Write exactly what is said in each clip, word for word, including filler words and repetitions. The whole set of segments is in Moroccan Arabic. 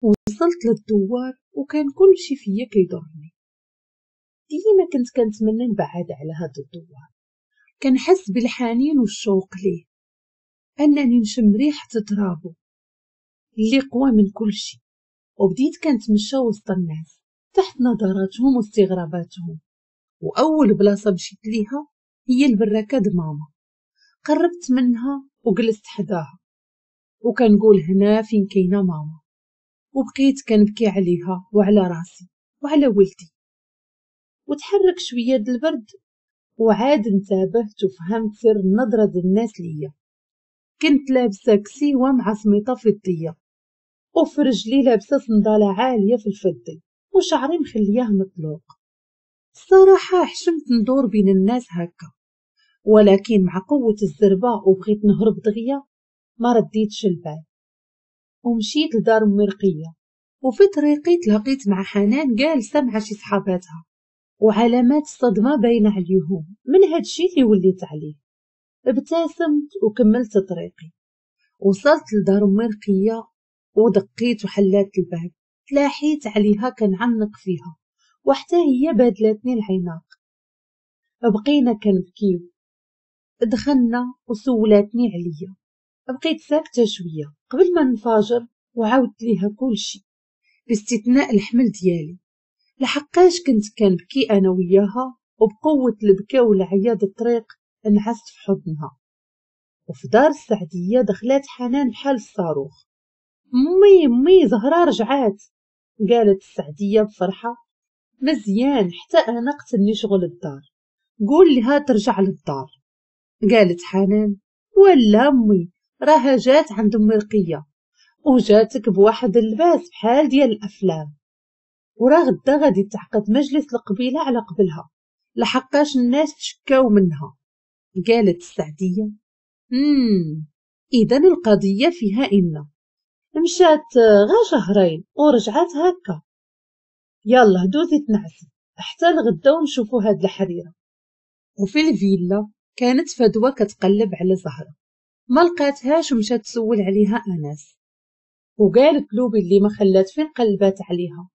وصلت للدوار وكان كل شي فيا كيضرني. ديما كنت كنتمنى نبعد على هاد الدوار، كنحس بالحنين والشوق ليه، انني نشم ريحه ترابو اللي قوى من كل شي. وبديت كنتمشى وسط الناس تحت نظراتهم واستغراباتهم. واول بلاصة مشيت ليها هي البراكه د ماما. قربت منها وجلست حداها وكنقول هنا فين كاينه ماما، وبقيت كنبكي عليها وعلى راسي وعلى ولدي. وتحرك شوية د البرد وعاد انتبهت وفهمت سر النظرة د الناس ليا. كنت لابسه كسيوه مع سميطه فضية، وفي رجلي لابسه صنداله عالية في الفضي، وشعري مخلياه مطلوق. الصراحة حشمت ندور بين الناس هكا، ولكن مع قوة الزربه وبغيت نهرب دغيا ما رديتش البال ومشيت لدار امي رقيه. وفي طريقي تلاقيت مع حنان جالسة مع شي صحاباتها، وعلامات الصدمة باينة عليهم من هادشي اللي وليت عليه. ابتسمت وكملت طريقي. وصلت لدار امي رقيه ودقيت وحلات الباب. تلاحيت عليها كنعنق فيها، وحتى هي بادلتني العناق. بقينا كنبكيو. دخلنا وسولاتني عليا. بقيت ساكته شوية قبل ما ننفجر وعاودت ليها كلشي باستثناء الحمل ديالي، لحقاش كنت كنبكي انا وياها، وبقوة البكا والعياط الطريق انعست في حضنها. وفي دار السعديه دخلات حنان بحال الصاروخ. مي مي زهره رجعات، قالت السعديه بفرحة. مزيان، حتى انا قتلني شغل الدار، قول لها ترجع للدار. قالت حنان ولا امي راها جات عند امي رقيه وجاتك بواحد اللباس بحال ديال الافلام، وراه غدا غادي تعقد مجلس القبيلة على قبلها لحقاش الناس تشكاو منها. قالت السعديه امم اذا القضية فيها ان مشات غا شهرين ورجعات هكا. يلا دوزي تنعسي حتى الغدا ونشوفوا هاد الحريره. وفي الفيلا كانت فدوى كتقلب على زهره، ما لقاتهاش ومشات تسول عليها انس، وقالت له باللي ما خلات فين قلبات عليها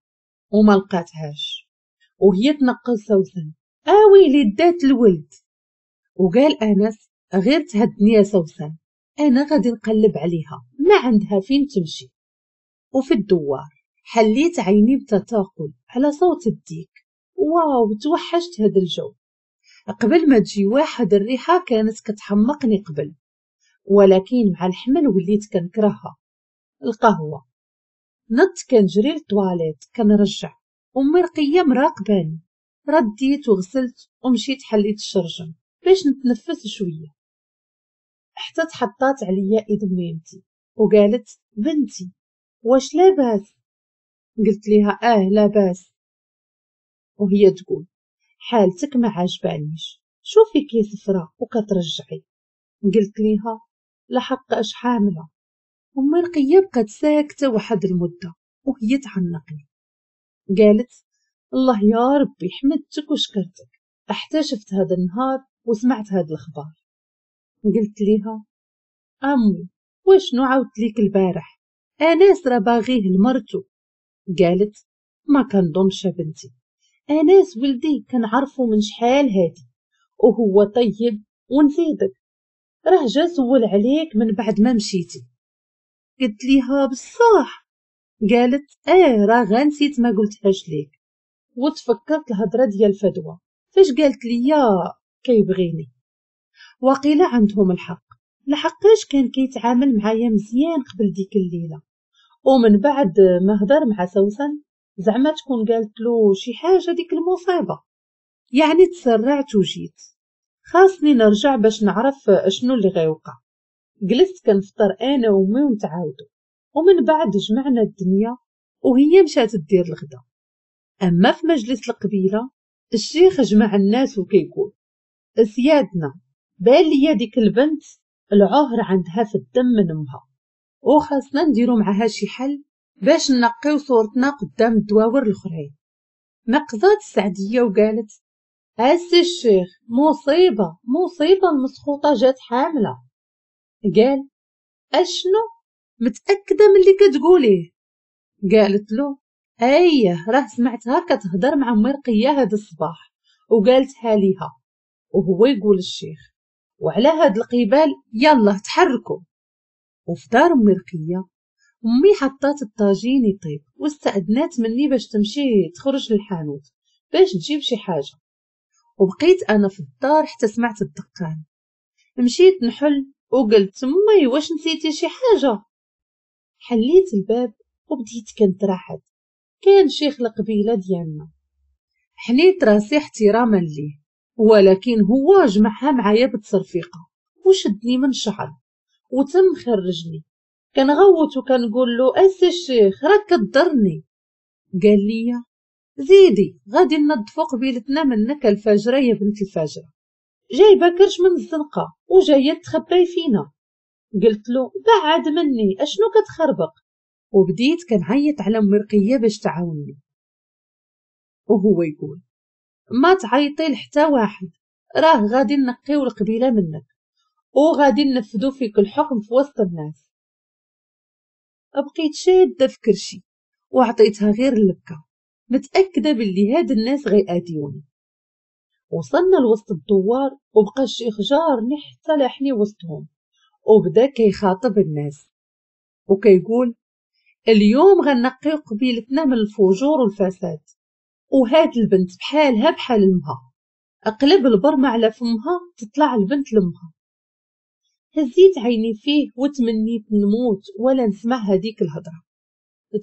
وما لقاتهاش. وهي تنقل سوسن اويلي دات الولد. وقال انس غير تهدني يا سوسن، انا غادي نقلب عليها، ما عندها فين تمشي. وفي الدوار حليت عيني بتثاقل على صوت الديك. واو توحشت هذا الجو. قبل ما تجي واحد الريحة كانت كتحمقني قبل، ولكن مع الحمل وليت كنكرهها. القهوة. نط كنجري للطواليت كنرجع، امي رقيه مراقباني. رديت وغسلت ومشيت حليت الشرجم باش نتنفس شوية، حتى تحطات عليا ايد ميمتي وقالت بنتي واش لاباس؟ قلت ليها اه لاباس. وهي تقول حالتك ما عجبانيش، شوفي كي صفرة وكترجعي. قلت ليها لحق اش حامله. امي رقيه بقات ساكته واحد المدة وهي تعنقني. قالت الله يا ربي حمدتك وشكرتك حتى شفت هذا النهار وسمعت هذا الخبر. قلت ليها امي وشنو عاودت ليك البارح؟ اناس راه باغية لمرتو. قالت ما كنظنش بنتي، اناس ولدي كنعرفو من شحال هادي وهو طيب، ونزيدك راه جا سول عليك من بعد ما مشيتي. قلت ليها بصح؟ قالت اه راه غنسيت ما قلتهاش ليك. وتفكرت الهضرة ديال فدوى فاش قالت ليا كيبغيني. وقيله عندهم الحق، لحقاش كان كيتعامل معايا مزيان قبل ديك الليلة، ومن بعد ما هضر مع سوسن زعما تكون قالت له شي حاجة ديك المصيبة. يعني تسرعت وجيت، خاصني نرجع باش نعرف شنو اللي غيوقع. جلست كنفطر انا وامي ونتعاودو، ومن بعد جمعنا الدنيا وهي مشات دير الغدا. اما في مجلس القبيلة الشيخ جمع الناس وكيقول سيادنا بان ليا ديك البنت العهر عندها في الدم من امها، وخاصنا نديرو معاها شي حل باش نقيو صورتنا قدام الدواور الاخرين. نقزات السعديه وقالت اسي الشيخ مصيبة مصيبة المسخوطه جات حامله. قال اشنو متاكدة من اللي كتقوليه؟ قالت له ايه راه سمعتها كتهضر مع امي رقيه هاد الصباح وقالتها ليها. وهو يقول الشيخ وعلى هاد القبال يلا تحركوا. وفي دار امي رقيه امي حطات الطاجين يطيب واستأذنات مني باش تمشي تخرج للحانوت باش تجيب شي حاجة، وبقيت انا في الدار حتى سمعت الدقان. مشيت نحل وقلت امي واش نسيتي شي حاجة؟ حليت الباب وبديت كنترعد. كان شيخ القبيلة ديالنا. حنيت راسي احتراما ليه، ولكن هو جمعها معايا بالتصرفيقه وشدني من شعري وتم خرجني. كنغوت وكنقول له اسي الشيخ راك كضرني. قال لي زيدي غادي ننظفو قبيلتنا منك الفاجرة يا بنت الفاجرة، جايبه كرش من الزنقة وجاية تخبي فينا. قلت له بعد مني اشنو كتخربق، وبديت كنعيط على امي رقيه باش تعاوني. وهو يقول ما تعيطي لحتى واحد، راه غادي نقيو القبيلة منك وغادي ننفذو فيك الحكم في وسط الناس. بقيت شاده في كرشي وعطيتها غير البكا، متاكدة باللي هاد الناس غيأذيوني. وصلنا لوسط الدوار وبقى الشيخ جارني حتى لاحني وسطهم، وبدا كيخاطب الناس وكيقول اليوم غنقيو قبيلتنا من الفجور والفساد، وهاد البنت بحالها بحال امها، اقلب البرمة على فمها تطلع البنت لامها. هزيت عيني فيه وتمنيت نموت ولا نسمع هذيك الهضرة.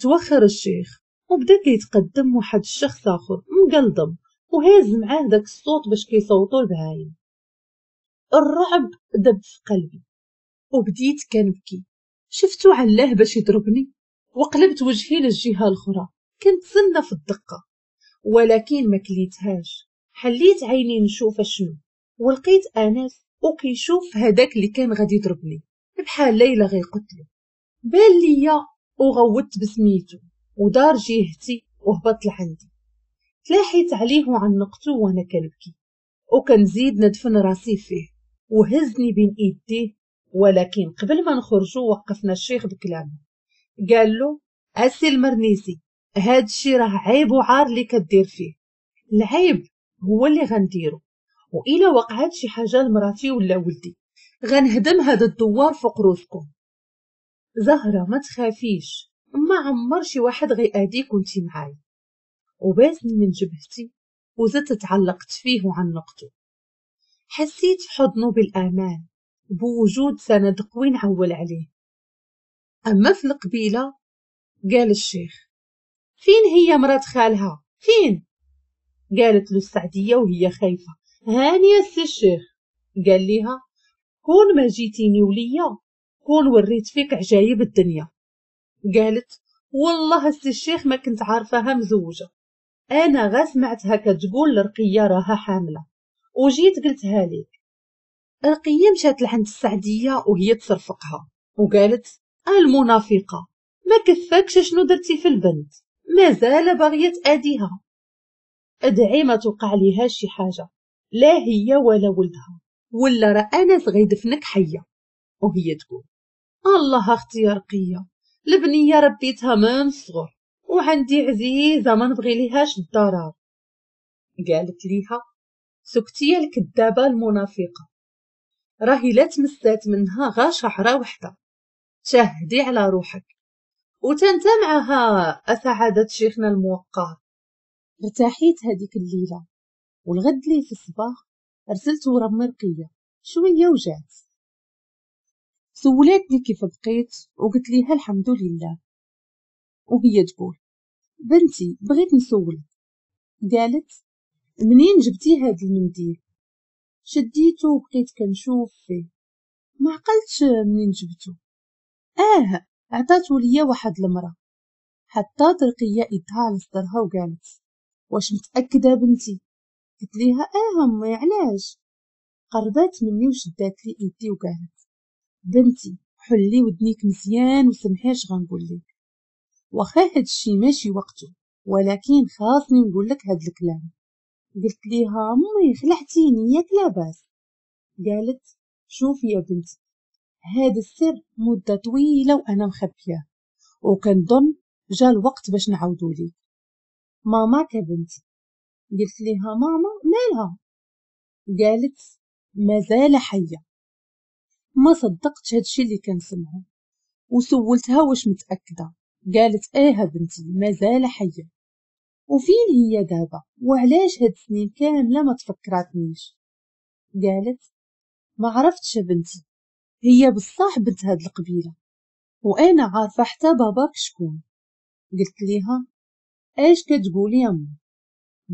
توخر الشيخ وبدا كيتقدم واحد الشخص اخر مقلضم وهاز معاه داك الصوت باش كيصوتوا البهايم. الرعب دب في قلبي وبديت كنبكي. شفتو علاه باش يضربني وقلبت وجهي للجهة الاخرى، كنتسنى في الدقة ولكن ما كليتهاش. حليت عيني نشوف شنو، ولقيت انس وكيشوف هذاك اللي كان غادي يضربني بحال ليلى غيقتلو. بان ليا وغوت بسميتو ودار جهتي وهبط لعندي. تلاحيت عليه وعنقته وانا كنبكي وكنزيد ندفن راسي فيه، وهزني بين ايديه. ولكن قبل ما نخرجوا وقفنا الشيخ بكلامه، قال له اسي المرنيسي هاد الشي راه عيب وعار اللي كدير فيه، العيب هو اللي غنديرو، وإلا وقعت شي حاجة لمراتي ولا ولدي غنهدم هذا الدوار فوق روسكم. زهره ما تخافيش، ما عمر شي واحد غيأذيك وانتي معايا. وباسني من جبهتي وزدت تعلقت فيه وعنقته. حسيت في حضنه بالامان، بوجود سند قوي نعول عليه. اما في القبيلة قال الشيخ فين هي مرات خالها فين؟ قالت له السعديه وهي خايفة هاني يا سي الشيخ. قال ليها كون ما جيتيني وليا كون وريت فيك عجايب الدنيا. قالت والله السي الشيخ ما كنت عارفاها مزوجه، انا غا سمعتها كتقول لرقيه راها حامله وجيت قلتها ليك. رقيه مشات لعند السعديه وهي تصرفقها وقالت المنافقه ما كفاكش شنو درتي في البنت، مازال باغية تاديها، ادعي ما توقع ليها شي حاجة لا هي ولا ولدها، ولا راه انس غيدفنك حيه. وهي تقول الله اختي يا رقيه، البنية ربيتها من الصغر وعندي عزيزه ما نبغي ليهاش الضرر. قالت ليها سكتي الكذابه المنافقه، راهي لا تمسات منها غا شعره وحده، شهدي على روحك وتنت معها اسعادة شيخنا الموقر. ارتاحيت هذيك الليلة، والغد لي في الصباح رسلت ورا مرقيه شوية وجات سولاتني كيف بقيت وقلت ليها الحمد لله. وهي تقول بنتي بغيت نسولك. قالت منين جبتي هاد المنديل؟ شديته وبقيت كنشوف فيه ما عقلتش منين جبته. اه عطاتو ليا واحد المراة. حطات رقيه ايدها على صدرها وقالت واش متاكدة بنتي؟ قلت ليها اه امي علاش؟ قربات مني وشدات لي ايدي وقالت بنتي حلي ودنيك مزيان وسمحي اش غنقول لك، واخا هادشي ماشي وقته ولكن خاصني نقول لك هاد الكلام. قلت ليها امي خلعتيني ياك لاباس؟ قالت شوفي يا بنتي هذا السر مده طويلة وانا مخبياه، وكنظن جا الوقت باش نعاودو ليك. ماما كبنتي. قلت ليها ماما مالها؟ قالت مازال حيه. ما صدقتش هادشي اللي كنسمعو وسولتها واش متاكدة. قالت ايه بنتي مازال حيه. وفين هي دابا؟ وعلاش هاد السنين كاملة ما تفكراتنيش؟ قالت ما عرفتش بنتي، هي بصح بنت هاد القبيلة وانا عارفه حتى باباك شكون. قلت ليها اش كتقولي يا امي؟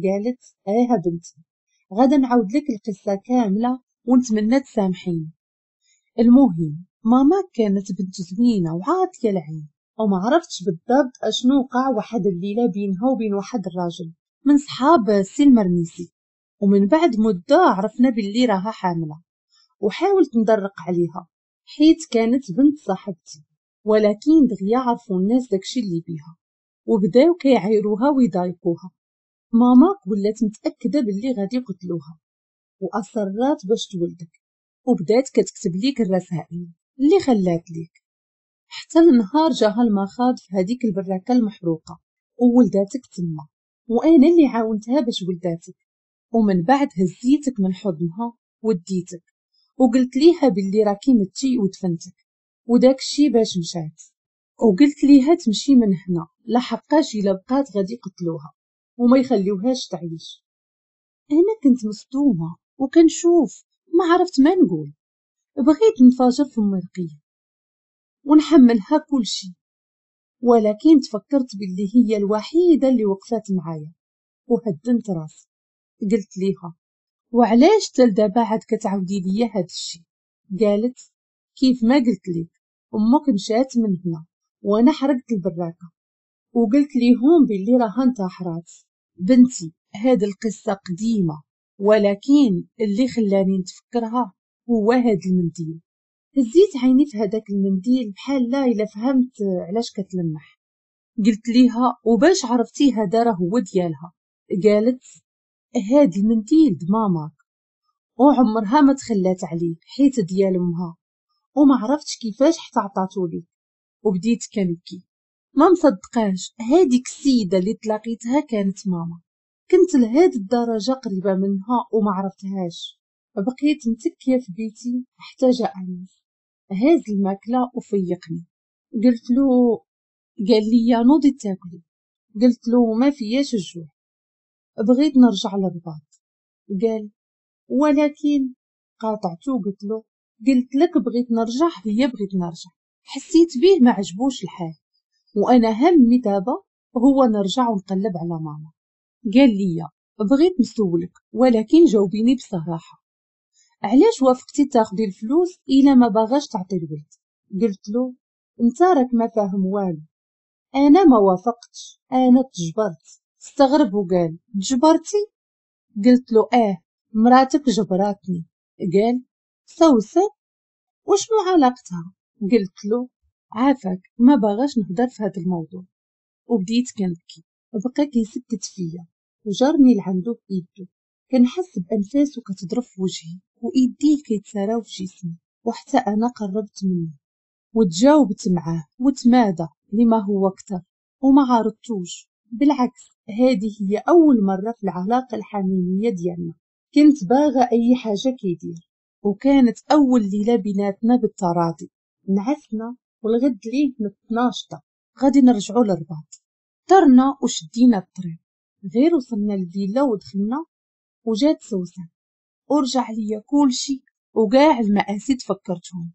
قالت ايه بنتي غادا نعاود لك القصة كاملة ونتمنى تسامحيني. المهم ماما كانت بنت زوينة وعاطيه العين، وما عرفتش بالضبط اشنو وقع واحد الليلة بينها وبين واحد الراجل من صحاب السي المرميسي، ومن بعد مده عرفنا باللي راها حامله، وحاولت ندرق عليها حيت كانت بنت صاحبتي، ولكن دغيا عرفوا الناس داكشي اللي بيها وبداو كيعايروها ويضايقوها. ماما ولات متاكدة باللي غادي يقتلوها واصرات باش تولدك، وبدات كتكتب ليك الرسائل اللي خلات ليك حتى النهار جاها المخاض في هذيك البراكه المحروقه وولداتك تما، وانا اللي عاونتها باش ولداتك. ومن بعد هزيتك من حضنها وديتك وقلت ليها باللي راكي متي ودفنتك وداك الشي باش مشات، وقلت ليها تمشي من هنا لحقاش الا بقات غادي يقتلوها وما يخليوهاش تعيش. انا كنت مصدومة وكنشوف ما عرفت ما نقول، بغيت نفاجر في مرقيه ونحملها كل شيء، ولكن تفكرت باللي هي الوحيدة اللي وقفت معايا وهدنت راسي. قلت ليها وعلاش تل دابا عاد كتعاودي ليا هاد الشيء؟ قالت كيف ما قلت لك امك مشات من هنا وانا حرقت البراكه وقلت ليهم باللي راها انتحرات. بنتي هاد القصة قديمة، ولكن اللي خلاني نتفكرها هو هاد المنديل. هزيت عيني في هذاك المنديل بحال لا الا فهمت علاش كتلمح. قلت ليها وباش عرفتي هذا راه هو ديالها؟ قالت هاد المنديل د ماماك وعمرها ما تخلات عليه حيت ديال امها، وما عرفتش كيفاش حتى عطاتو لي. وبديت كنبكي ما مصدقاش هاديك السيدة اللي تلاقيتها كانت ماما، كنت لهاد الدرجة قريبه منها وما عرفتهاش. بقيت متكيه في بيتي حتى جاء انس هاز الماكلة وفيقني. قلت له، قال لي نوضي تاكلي. قلت له ما فياش الجوع، بغيت نرجع للرباط. قال ولكن، قاطعته قلت له قلت لك بغيت نرجع هي بغيت نرجع. حسيت به ما عجبوش الحال، وانا همي دابا هو نرجع ونقلب على ماما. قال لي بغيت نسولك ولكن جاوبيني بصراحة، علاش وافقتي تاخدي الفلوس الا ما باغاش تعطي الولد؟ قلت له انت راك ما فاهم والو، انا ما وافقتش، انا تجبرت. استغرب وقال تجبرتي؟ قلت له اه مراتك جبراتني. قال سوسن وشنو علاقتها؟ قلت له عافاك ما باغاش نهضر في هذا الموضوع. وبديت كنبكي، بقى كيسكت فيا وجرني لعندو بايدو، كنحس بانفاسو كتضرب في وجهي وايديه كيتساراو في جسمي، وحتى انا قربت منه وتجاوبت معاه وتمادى لما هو اكثر وما عارضتوش. بالعكس هذه هي اول مرة في العلاقة الحميمية ديالنا كنت باغا اي حاجة كيدير، وكانت اول ليلة بيناتنا بالتراضي. نعسنا والغد ليه نتناشطه غادي نرجعوا للرباط. طرنا وشدينا الطريق، غير وصلنا للفيلا ودخلنا وجات سوسن ورجع ليا كلشي وكاع المآسي تفكرتهم.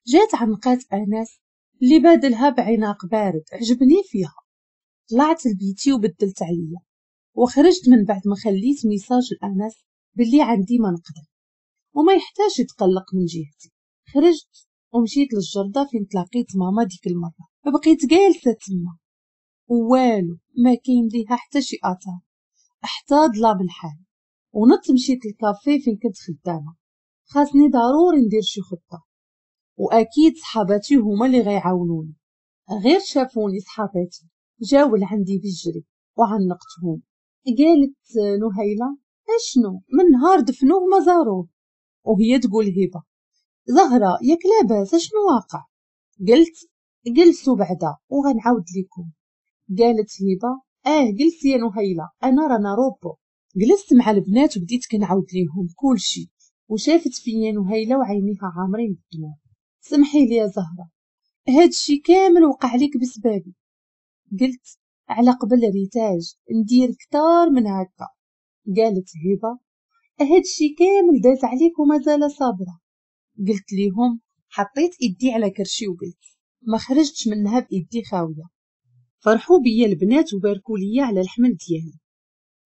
جات عنقات انس اللي بادلها بعناق بارد عجبني فيها. طلعت لبيتي وبدلت عليا وخرجت من بعد ما خليت message لانس باللي عندي ما نقدر وما يحتاج يتقلق من جهتي. خرجت ومشيت للجردة فين تلاقيت ماما ديك المرة، بقيت جالسة تما والو ما كاين ليها حتى شي اثر، حتى ظلام الحال. ونط مشيت للكافيه فين كنت خدامه، خاصني ضروري ندير شي خطه واكيد صحاباتي هما اللي غيعاونوني. غير شافوني صحاباتي جاو لعندي بالجري وعنقتهم. قالت نهيله اشنو من نهار دفنوه ما زاروه؟ وهي تقول هبه زهره ياك لاباس اشنو واقع؟ قلت جلسوا بعدا وغنعاود لكم. قالت هبه اه جلسي يا نهيله انا رانا روبو. جلست مع البنات وبديت كنعاود ليهم كلشي، وشافت فيا نهيله وعينيها عامرين بالدموع. سمحي لي يا زهره، هادشي كامل وقع لك بسبابي. قلت على قبل ريتاج ندير كتار من هكا. قالت هبه هادشي كامل داز عليك ومازال صابره. قلت ليهم حطيت ايدي على كرشي وقلت ما خرجتش منها بايدي خاوية. فرحوا بيا البنات وباركوا ليا على الحمل ديالي،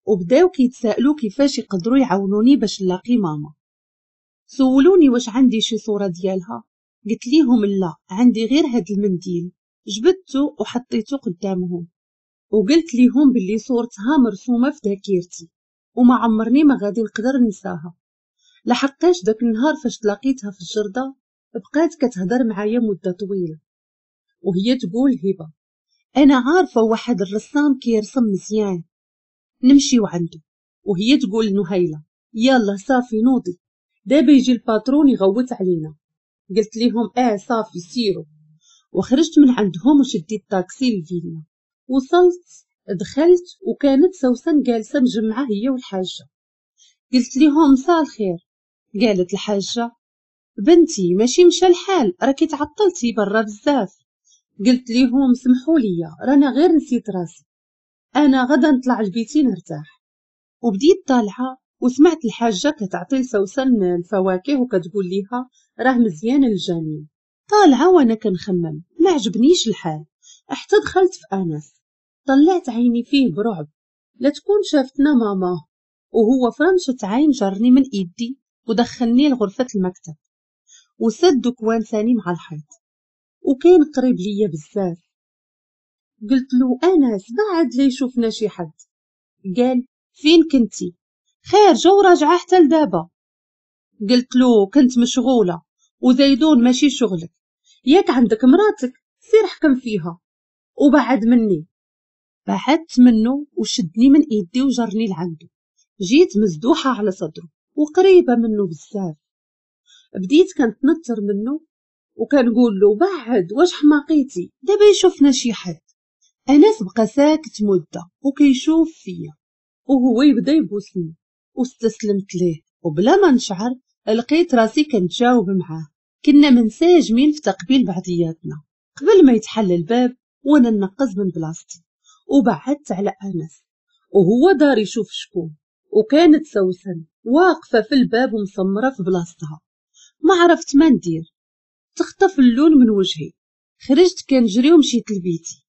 وبداو كيتسائلوا كيفاش يقدروا يعاونوني باش نلاقي ماما. سولوني واش عندي شي صوره ديالها، قلت ليهم لا، عندي غير هاد المنديل. جبدته وحطيته قدامهم وقلت ليهم باللي صورتها مرسومه في ذاكرتي وما عمرني ما غادي نقدر ننساها، لحقاش داك النهار فاش تلاقيتها في الجرده بقات كتهضر معايا مده طويلة، وهي تقول هبه انا عارفه واحد الرسام كيرسم مزيان نمشيو عنده. وهي تقول نهيله يلا صافي نوضي دابا يجي ال patron يغوت علينا. قلت لهم اه صافي سيروا. وخرجت من عندهم وشديت طاكسي للفيلا. وصلت دخلت وكانت سوسن جالسة مجمعة هي والحاجة. قلت لهم مساء الخير. قالت الحاجة بنتي ماشي مشى الحال، راكي تعطلتي برا بزاف. قلت لهم سمحوا لي رانا غير نسيت راسي، انا غدا نطلع لبيتي نرتاح. وبديت طالعه وسمعت الحاجة كتعطي لسوسن الفواكه وكتقول ليها راه مزيان الجنين. طالعه وانا كنخمم ما عجبنيش الحال، حتى دخلت في انس. طلعت عيني فيه برعب لا تكون شافتنا ماما، وهو فرنشة عين جرني من ايدي ودخلني لغرفة المكتب وسد كوان ثاني مع الحيط، وكان قريب ليا بزاف. قلت له انس بعد لا يشوفنا شي حد. قال فين كنتي؟ خارجه وراجعه حتى لدابا. قلت له كنت مشغولة وزيدون ماشي شغلك، ياك عندك مراتك سير حكم فيها وبعد مني. بعدت منه وشدني من ايدي وجرني لعنده. جيت مزدوحه على صدره وقريبه منه بزاف. بديت كنتنطر منه وكنقول له بعد واش حماقيتي دابا يشوفنا شي حد. انس بقى ساكت مده وكيشوف فيا وهو يبدا يبوسني، واستسلمت ليه وبلا ما نشعر لقيت راسي كنتجاوب معاه. كنا منسجمين في تقبيل بعضياتنا قبل ما يتحل الباب وانا نقز من بلاصتي وبعدت على انس، وهو دار يشوف شكون، وكانت سوسن واقفة في الباب ومسمره في بلاصتها. ما عرفت ما ندير، تخطف اللون من وجهي. خرجت كنجري ومشيت لبيتي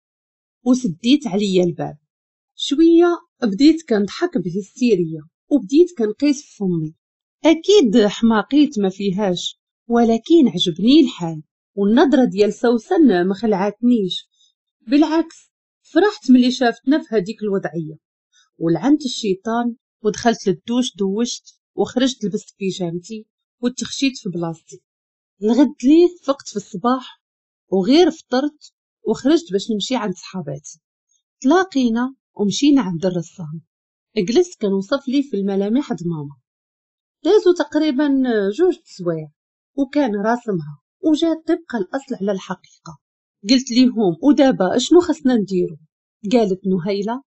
وسديت عليا الباب. شوية بديت كنضحك بهستيريه وبديت كنقيس في فمي، اكيد حماقيت ما فيهاش، ولكن عجبني الحال والنظرة ديال سوسن ما خلعتنيش، بالعكس فرحت ملي شافتنا في هذيك الوضعية. ولعنت الشيطان ودخلت للدوش، دوشت وخرجت لبست بيجامتي وتخشيت في بلاصتي. الغد ليه فقت في الصباح وغير فطرت وخرجت باش نمشي عند صحاباتي. تلاقينا ومشينا عند الرسام. جلست كنوصف لي في الملامح د ماما. دازو تقريبا جوج تسوايع وكان راسمها وجات طبق الاصل على الحقيقة. قلت ليهم ودابا اشنو خصنا نديرو؟ قالت نهيله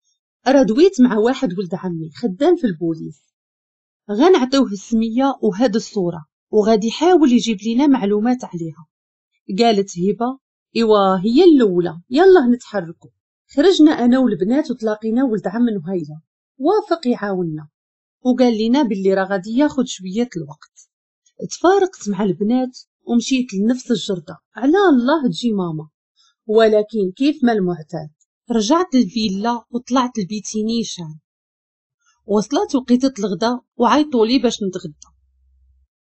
راه دويت مع واحد ولد عمي خدام في البوليس، غنعطيوه السمية وهاد الصورة وغادي يحاول يجيب لينا معلومات عليها. قالت هبه ايوا هي الاولى، يلا نتحركوا. خرجنا انا والبنات وتلاقينا ولد عم نهيله، وافق يعاوننا وقال لنا باللي راه غادي ياخذ شوية الوقت. تفارقت مع البنات ومشيت لنفس الجرده على الله تجي ماما، ولكن كيف ما المعتاد رجعت للفيلا وطلعت لبيتي نيشان. وصلت وقيتة الغدا وعيطوا لي باش نتغدى،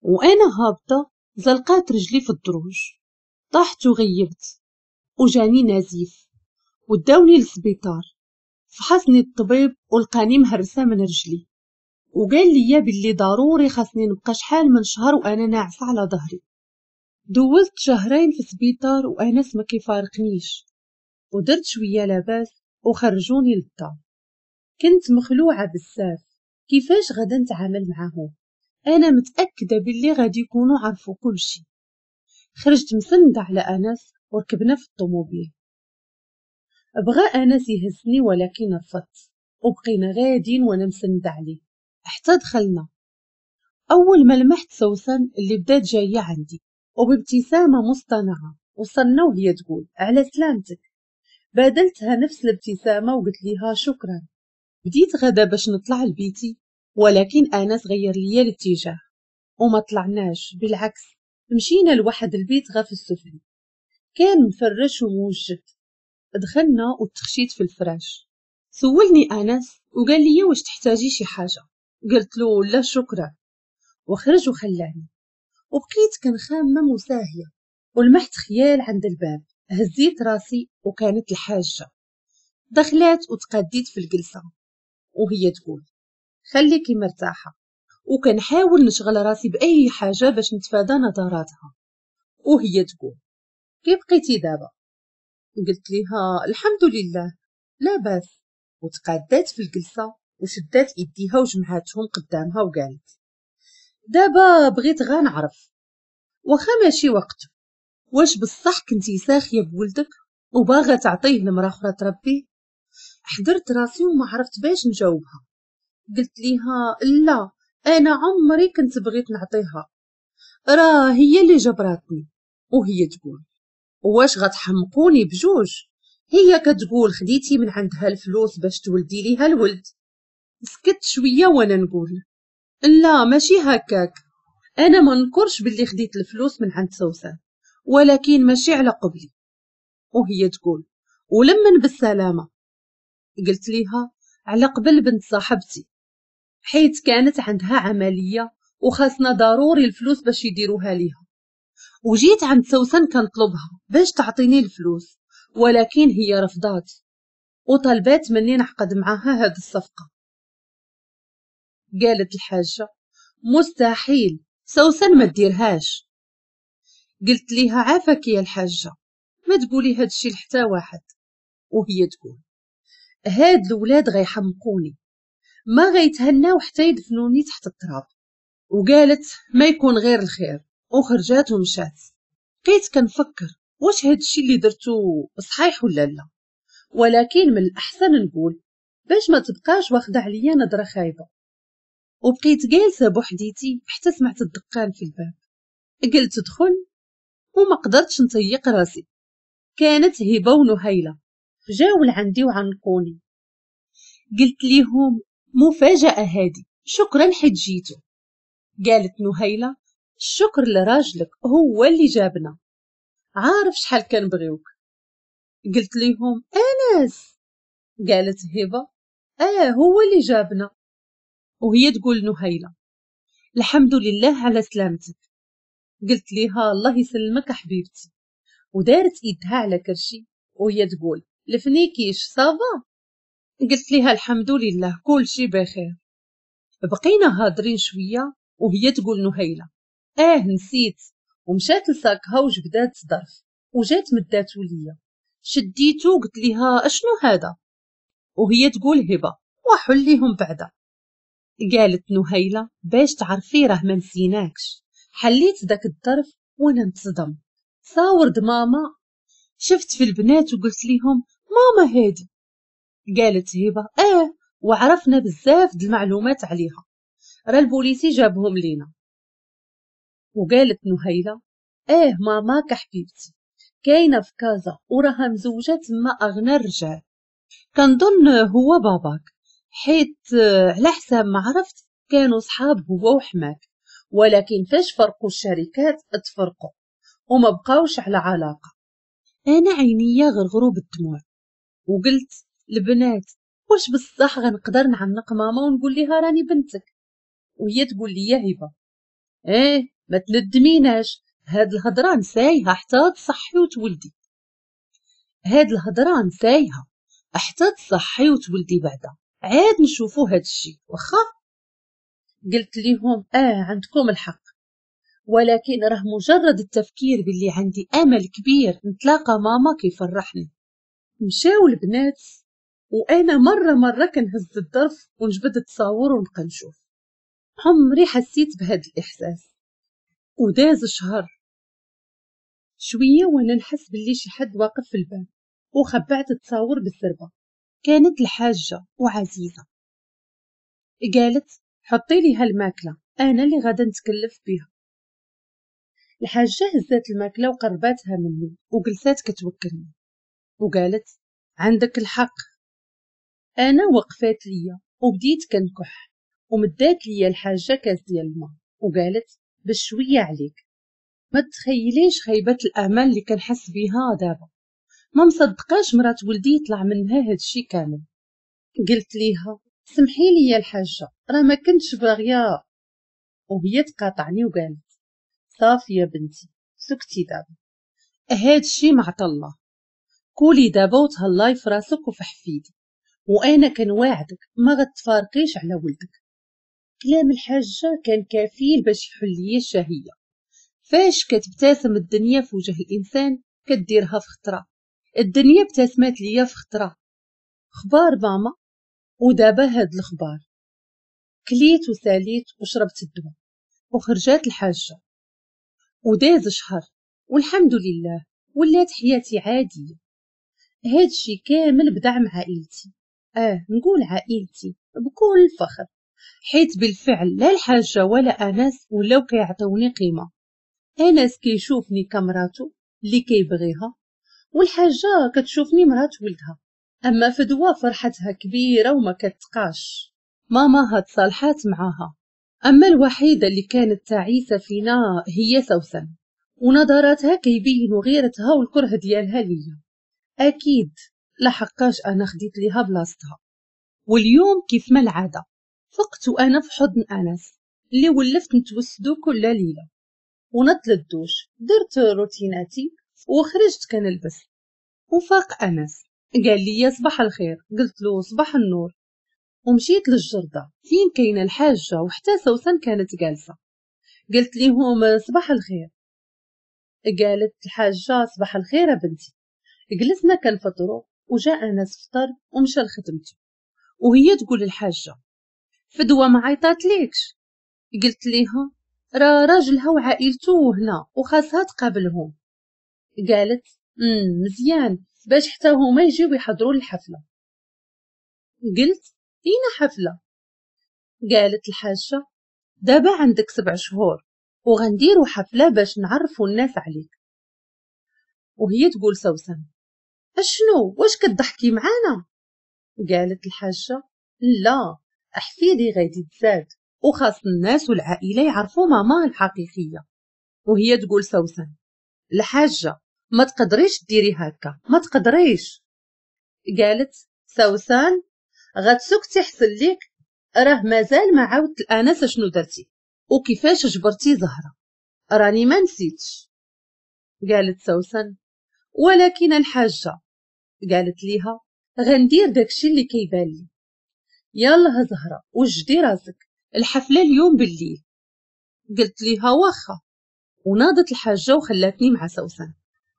وانا هابطة زلقات رجلي في الدروج، طحت وغيبت وجاني نزيف وداوني للسبيطار. فحصني الطبيب ولقاني مهرسه من رجلي وقال لي باللي ضروري خاصني نبقى شحال من شهر وانا ناعسه على ظهري. دوزت شهرين في السبيطار وانس ما كيفارقنيش، ودرت شوية لاباس وخرجوني للدار. كنت مخلوعه بزاف كيفاش غادا نتعامل معاهم، انا متاكدة باللي غادي يكونوا عرفوا كل شيء. خرجت مسنده على انس وركبنا في الطوموبيل. بغى انس يهزني ولكن رفضت، وبقينا غادين وانا مسند عليه حتى دخلنا. اول ما لمحت سوسن اللي بدات جاية عندي وبابتسامه مصطنعه وصلنا وهي تقول على سلامتك. بادلتها نفس الابتسامة وقلت ليها شكرا. بديت غدا باش نطلع لبيتي، ولكن انس غير ليا الاتجاه وما طلعناش، بالعكس مشينا لواحد البيت غا في السفلي كان مفرش وموجد. دخلنا وتخشيت في الفراش. سولني انس وقال لي واش تحتاجي شي حاجة، قلت له لا شكرا، وخرج وخلاني. وبقيت كنخمم وساهيه، ولمحت خيال عند الباب. هزيت راسي وكانت الحاجة. دخلات وتقديت في الجلسة وهي تقول خليكي مرتاحة، وكنحاول نشغل راسي باي حاجة باش نتفادى نظراتها. وهي تقول كيف بقيتي دابا؟ قلت ليها الحمد لله لا باس. وتقادات في الجلسة وشدات ايديها وجمعاتهم قدامها وقالت دابا بغيت غا نعرف واخا ماشي وقته، واش بصح كنتي ساخيه بولدك وباغا تعطيه لمرا اخرى تربيه؟ حضرت راسي وما عرفت باش نجاوبها. قلت ليها لا، انا عمري كنت بغيت نعطيها، راه هي اللي جبراتني. وهي تقول واش غتحمقوني بجوج؟ هي كتقول خديتي من عندها الفلوس باش تولدي ليها الولد. سكت شوية وانا نقول لا ماشي هكاك، انا ما نكرش باللي خديت الفلوس من عند سوسن، ولكن ماشي على قبلي. وهي تقول ولمن بالسلامة؟ قلت ليها على قبل بنت صاحبتي، حيت كانت عندها عملية وخاصنا ضروري الفلوس باش يديروها ليها، وجيت عند سوسن كنطلبها باش تعطيني الفلوس، ولكن هي رفضات وطلبات مني نعقد معاها هاد الصفقة. قالت الحاجة مستحيل، سوسن ما ديرهاش. قلت ليها عافاك يا الحاجة ما تقولي هادشي لحتى واحد. وهي تقول هاد الولاد غيحمقوني، ما غيتهناو حتى يدفنوني تحت التراب. وقالت ما يكون غير الخير، وخرجات ومشات. بقيت كنفكر واش هادشي اللي درتو صحيح ولا لا، ولكن من الاحسن نقول باش ما تبقاش واخده عليا نظره خايبة. وبقيت جالسة بوحديتي حتى سمعت الدقان في الباب. قلت دخل وما قدرتش نطيق راسي. كانت هبه ونهيله جاو لعندي وعنقوني. قلت ليهم مفاجاة هادي، شكرا حيت جيتو. قالت نهيله الشكر لراجلك هو اللي جابنا، عارف شحال كنبغيوك. قلت ليهم انس. قالت هبه اه هو اللي جابنا. وهي تقول نهيله الحمد لله على سلامتك. قلت ليها الله يسلمك حبيبتي. ودارت ايدها على كرشي وهي تقول لفنيكيش ça va؟ قلت ليها الحمد لله كل شي بخير. بقينا هادرين شوية وهي تقول نهيله اه نسيت، ومشات لساكها وجبدات ظرف وجات مداتو ليا. شديتو قلت ليها اشنو هذا؟ وهي تقول هبه وحليهم بعدا. قالت نهيله باش تعرفي راه ما نسيناكش. حليت داك الظرف وانا نتصدم، صاور ماما. شفت في البنات وقلت ليهم ماما هادي. قالت هبه اه وعرفنا بزاف د المعلومات عليها، راه البوليسي جابهم لينا. وقالت نهيله اه ماماك حبيبتي كاينه في كازا وراها مزوجه تما اغنى الرجال، كنظن هو باباك، حيت على حساب ما عرفت كانوا صحاب هو وحماك، ولكن فاش فرقوا الشركات تفرقوا وما بقاوش على علاقة. انا عينيا غرغروا بالدموع وقلت البنات واش بصح غنقدر نعنق ماما ونقول لها راني بنتك؟ وهي تقول لي يا هبه ايه ما تندميناش، هاد الهضرة نسايها حتى تصحي وتولدي، هاد الهضرة نسايها حتى تصحي وتولدي بعدا عاد نشوفو هاد الشي واخا. قلت ليهم اه عندكم الحق، ولكن راه مجرد التفكير باللي عندي امل كبير نتلاقى ماما كيفرحني. مشاو البنات وانا مرة مرة كنهز الظرف ونجبد التصاور ونبقى نشوف. عمري حسيت بهذا الاحساس. وداز شهر شوية وانا نحس باللي شي حد واقف في الباب، وخبعت التصاور بالزربه. كانت الحاجة وعزيزه، قالت حطي ليها الماكلة انا اللي غادا نتكلف بها. الحاجة هزات الماكلة وقرباتها مني وجلسات كتوكلني وقالت عندك الحق. انا وقفات ليا وبديت كنكح، ومدات ليا الحاجة كاس ديال الماء وقالت بشوية عليك. ما تخيليش خيبه الامل اللي كنحس بها دابا، ما مصدقاش مرات ولدي يطلع منها هادشي كامل. قلت ليها سمحي لي يا الحاجة راه ما كنتش باغية، وهي تقاطعني وقالت صافي يا بنتي سكتي دابا، هادشي ما عطا الله، كولي دابا وتهلاي في راسك وفي حفيدي، وانا كنواعدك ما غتفارقيش على ولدك. كلام الحاجة كان كفيل باش يحل لي الشهية. فاش كتبتسم الدنيا في وجه الانسان كديرها في خطره، الدنيا ابتسمت ليا في خطره. خبار ماما ودابا هاد الخبار. كليت وساليت وشربت الدواء وخرجات الحاجة، وداز شهر والحمد لله ولات حياتي عادية. هادشي كامل بدعم عائلتي، اه نقول عائلتي بكل فخر، حيت بالفعل لا الحاجة ولا انس ولاو كيعطوني قيمة. انس كيشوفني كمراتو اللي كيبغيها، والحاجة كتشوفني مرات ولدها. اما فدوى فرحتها كبيرة وما كتقاش، ماما تصالحات معاها. اما الوحيدة اللي كانت تعيسه فينا هي سوسن، ونظراتها كيبينوا غيرتها والكره ديالها ليا، اكيد لحقاش انا خديت ليها بلاصتها. واليوم كيف ما العادة فقت وانا في حضن انس اللي ولفت نتوسدو كل ليلة، ونط للدوش درت روتيناتي وخرجت كنلبس. وفاق انس قال لي صباح الخير، قلت له صباح النور، ومشيت للجرده فين كاينه الحاجة وحتى سوسن كانت جالسة. قلت ليهم صباح الخير، قالت الحاجة صباح الخير بنتي. جلسنا كنفطروا وجاء انس فطر ومشى لخدمته، وهي تقول الحاجة فدوى ما عيطات ليكش؟ قلت ليها راه راجلها وعائلته هنا وخاصها تقابلهم. قالت امم مزيان باش حتى هما يجيو يحضروا الحفلة. قلت اين حفلة؟ قالت الحاجة دابا عندك سبع شهور وغنديروا حفلة باش نعرفوا الناس عليك. وهي تقول سوسن اشنو واش كتضحكي معانا؟ قالت الحاجة لا حفيدي غادي تزاد وخاص الناس والعائلة يعرفوا ماما الحقيقية. وهي تقول سوسن الحاجة ما تقدريش ديري هكا، ما تقدريش. قالت سوسن غتسكتي حسن ليك، راه مازال ما عاودت الانس شنو درتي وكيفاش جبرتي زهره، راني ما نسيتش. قالت سوسن ولكن الحاجة. قالت ليها غندير داكشي اللي كيبان لي. يلا زهره وجدي راسك الحفلة اليوم بالليل. قلت ليها واخا. وناضت الحاجة وخلاتني مع سوسن،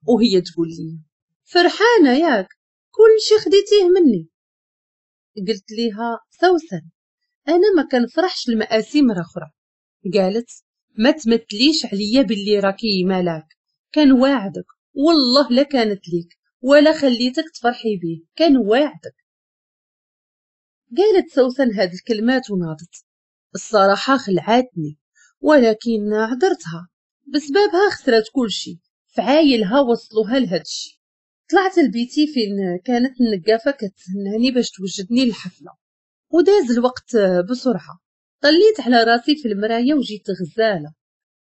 وهي تقول لي فرحانة ياك كل شي خديتيه مني. قلت ليها سوسن انا ما كنفرحش المآسي مرة اخرى. قالت ما تمثليش عليا باللي راكي ملاك، كان واعدك والله لا كانت ليك ولا خليتك تفرحي بيه، كان واعدك. قالت سوسن هاد الكلمات وناضت. الصراحة خلعتني ولكن عذرتها، بسببها خسرت كل شي، فعايلها وصلوها لهادشي. طلعت لبيتي فين كانت النقافه كتسناني باش توجدني للحفله، وداز الوقت بسرعة. طليت على راسي في المراية وجيت غزاله.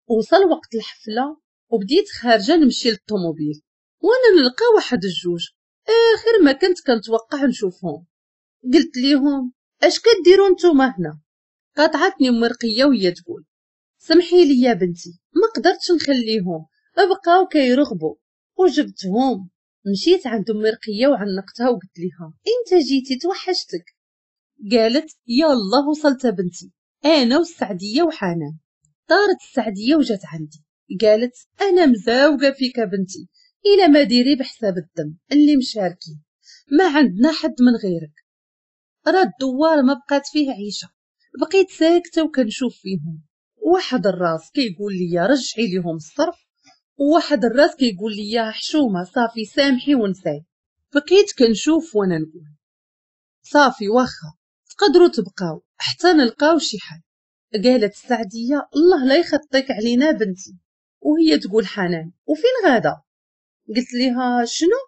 وصل وقت الحفلة وبديت خارجه نمشي للطوموبيل، وانا نلقى واحد الجوج اخر ما كنت كنتوقع نشوفهم. قلت ليهم اش كديروا نتوما هنا؟ قاطعتني ام رقيه وهي تقول سمحي لي يا بنتي ما قدرتش نخليهم، بقاو كيرغبوا وجبتهم. مشيت عند ام رقيه وعنقتها وقلت لها انت جيتي توحشتك. قالت يلا وصلت بنتي انا والسعديه وحنان. طارت السعديه وجات عندي قالت انا مزاوقه فيك بنتي، الى ما ديري بحساب الدم اللي مشاركين، ما عندنا حد من غيرك. راه الدوار ما بقات فيه عيشه. بقيت ساكته وكنشوف فيهم، واحد الراس كيقول لي رجعي ليهم الصرف، وواحد الراس كيقول لي حشومه صافي سامحي ونساي. بقيت كنشوف وانا نقول صافي واخا تقدروا تبقاو حتى نلقاو شي حل. قالت السعديه الله لا يخطيك علينا بنتي. وهي تقول حنان وفين غادا؟ قلت لها شنو؟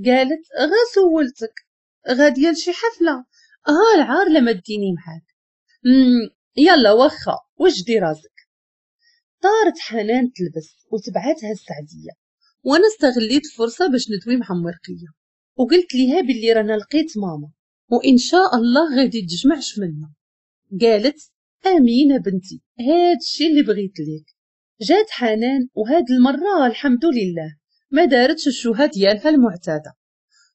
قالت غا سولتك غادية لشي حفلة، ها العار لما ديني معاك. يلا واخا وجدي راسك. طارت حنان تلبس وتبعتها السعديه، وانا استغليت الفرصة باش ندوي مع مرقيه وقلت ليها باللي رانا لقيت ماما وان شاء الله غادي تجمعش منا. قالت امين بنتي هاد الشيء اللي بغيت ليك. جات حنان وهاد المرة الحمد لله ما دارتش الشوهه ديالها المعتادة،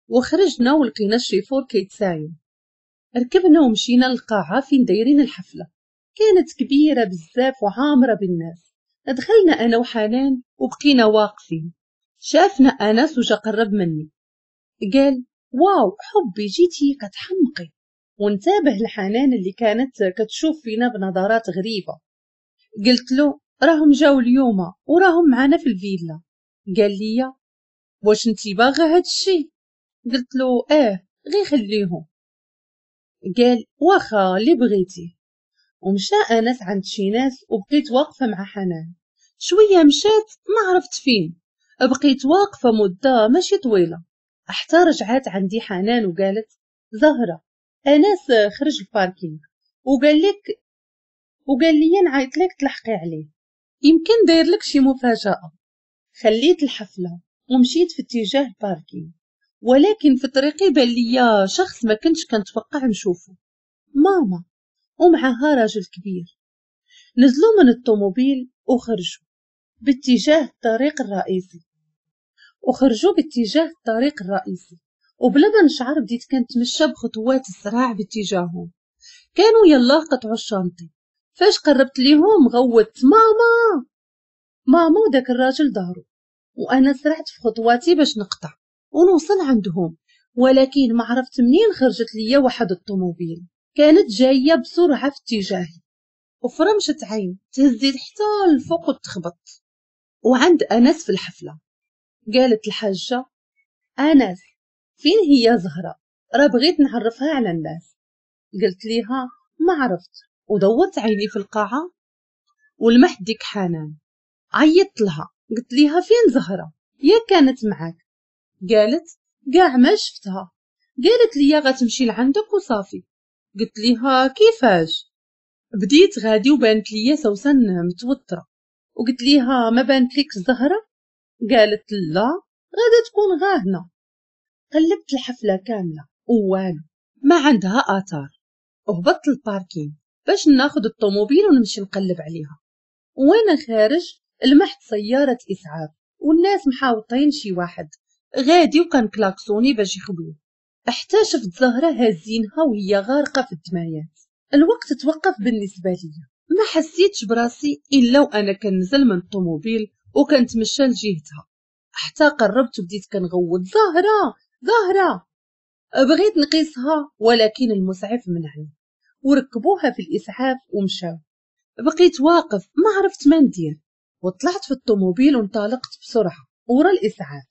وخرجنا ولقينا الشيفور كيتسايم. ركبنا ومشينا للقاعه فين دايرين الحفلة، كانت كبيرة بزاف وعامره بالناس. دخلنا انا وحنان وبقينا واقفين. شافنا انس وجا قرب مني قال واو حبي جيتي كتحمقي. وانتبه لحنان اللي كانت كتشوف فينا بنظرات غريبة. قلت له راهم جاو اليوم وراهم معنا في الفيلا. قال لي واش انتي باغا هاد الشيء؟ قلت له اه غير خليهم. قال واخا اللي بغيتي. ومشى انس عند شي ناس وبقيت واقفة مع حنان. شوية مشات ما عرفت فين، بقيت واقفة مده ماشي طويلة حتى رجعات عندي حنان وقالت زهره انس خرج ال parking وقال لك وقال لي نعيط لك تلحقي عليه، يمكن داير لك شي مفاجاة. خليت الحفلة ومشيت في اتجاه ال parking، ولكن في طريقي بان ليا شخص ما كنتش كنتوقع نشوفه، ماما ومعها راجل كبير. نزلوا من الطوموبيل وخرجوا باتجاه الطريق الرئيسي وخرجوا باتجاه الطريق الرئيسي وبلا ما نشعر بديت كنتمشى بخطوات السراع باتجاههم. كانوا يلا قطعوا ال chantier. فاش قربت ليهم غوت ماما ماما، وداك الراجل ظهرو، وانا سرعت في خطواتي باش نقطع ونوصل عندهم، ولكن ما عرفت منين خرجت ليا واحد الطوموبيل كانت جاية بسرعة في اتجاهي، وفرمشة عين تهزيت حتى الفوق وتخبط. وعند انس في الحفلة قالت الحاجة انس فين هي زهره؟ راه بغيت نعرفها على الناس. قلت ليها ما عرفت، ودورت عيني في القاعة ولمحت ديك حنان. عيطت لها قلت ليها فين زهره؟ يا كانت معاك. قالت كاع ما شفتها، قالت لي غتمشي لعندك وصافي. قلت ليها كيفاش؟ بديت غادي وبانت ليا سوسن متوترة، وقلت ليها ما بانت لك زهره؟ قالت لا غادا تكون غاهنه. قلبت الحفلة كاملة ووالو ما عندها اثار. وهبطت لل parking باش ناخذ الطوموبيل ونمشي نقلب عليها. وانا خارج لمحت سيارة اسعاف والناس محاوطين شي واحد غادي وكان كلاكسوني باش يخبوه. حتى شفت زهره هازينها وهي غارقة في الدمايات. الوقت توقف بالنسبة لي، ما حسيتش براسي الا وانا كنزل من الطوموبيل وكنتمشى لجهتها. حتى قربت وبديت كنغوت زهره زهره. بغيت نقيسها ولكن المسعف منعني، وركبوها في الاسعاف ومشاو. بقيت واقف ما عرفت ما ندير، وطلعت في الطوموبيل وانطلقت بسرعة ورا الاسعاف.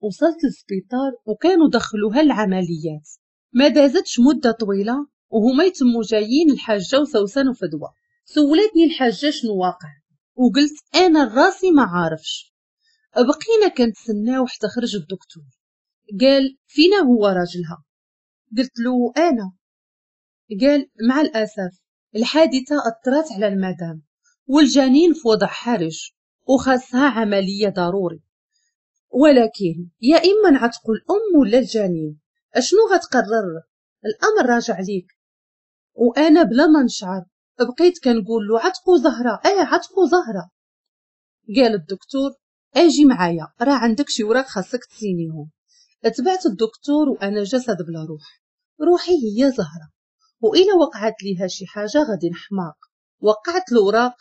وصلت للسبيطار وكانوا دخلوها العمليات. ما دازتش مده طويلة وهما يتموا جايين الحاجة وسوسن وفدوى. سولتني الحاجة شنو واقع، وقلت انا راسي ما عارفش. بقينا كنتسناو حتى خرج الدكتور. قال فينا هو راجلها؟ قلت له انا. قال مع الاسف الحادثة اثرت على المدام والجنين في وضع حرج وخاصها عملية ضروري، ولكن يا اما نعتقوا الام ولا الجنين، اشنو غتقرر؟ الامر راجع ليك. وانا بلا ما نشعر بقيت كنقول له عتقوا زهره، اه عتقوا زهره. قال الدكتور اجي معايا راه عندك شي وراق خاصك تسينيهم. اتبعت الدكتور وانا جسد بلا روح، روحي هي زهره، والا وقعت ليها شي حاجة غادي نحماق. وقعت الوراق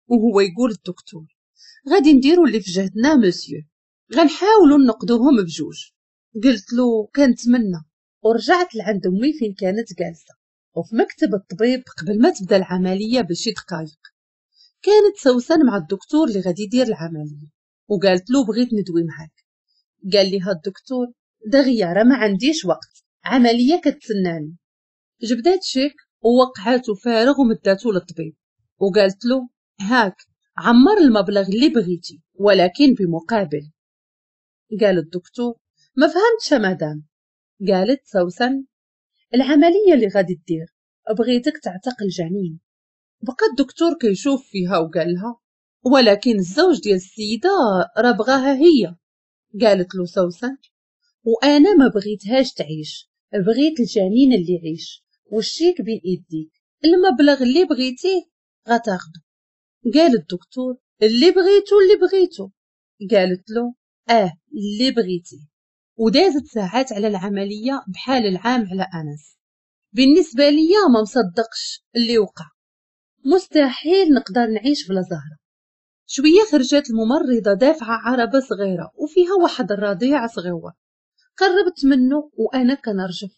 وهو يقول الدكتور غادي نديرو اللي في جهدنا مسيو، غنحاولوا نقدوهم بجوج. قلت له كنتمنى. ورجعت لعند امي فين كانت جالسة وفي مكتب الطبيب قبل ما تبدا العملية بشي دقائق. كانت سوسن مع الدكتور اللي غادي يدير العملية، وقالت له بغيت ندوي معاك. قال لها الدكتور دغيا راه ما عنديش وقت، عملية كتسناني. جبدات شيك ووقعاتو فارغ ومداتو للطبيب وقالت له هاك عمر المبلغ اللي بغيتي ولكن بمقابل. قال الدكتور ما فهمتش مدام. قالت سوسن العملية اللي غادي دير بغيتك تعتق الجنين. بقى الدكتور كيشوف فيها وقال لها ولكن الزوج ديال السيدة راه بغاها هي. قالت له سوسن وانا ما بغيتهاش تعيش، بغيت الجنين اللي يعيش والشيك بين ايديك، المبلغ اللي بغيتيه غتاخده. قال الدكتور اللي بغيتو اللي بغيتو. قالت له اه اللي بغيتيه. ودازت ساعات على العملية بحال العام على انس. بالنسبة ليا ما مصدقش اللي وقع، مستحيل نقدر نعيش بلا زهره. شوية خرجت الممرضة دافعه عربه صغيرة وفيها واحد الرضيع صغيرة. قربت منه وانا كنرجف.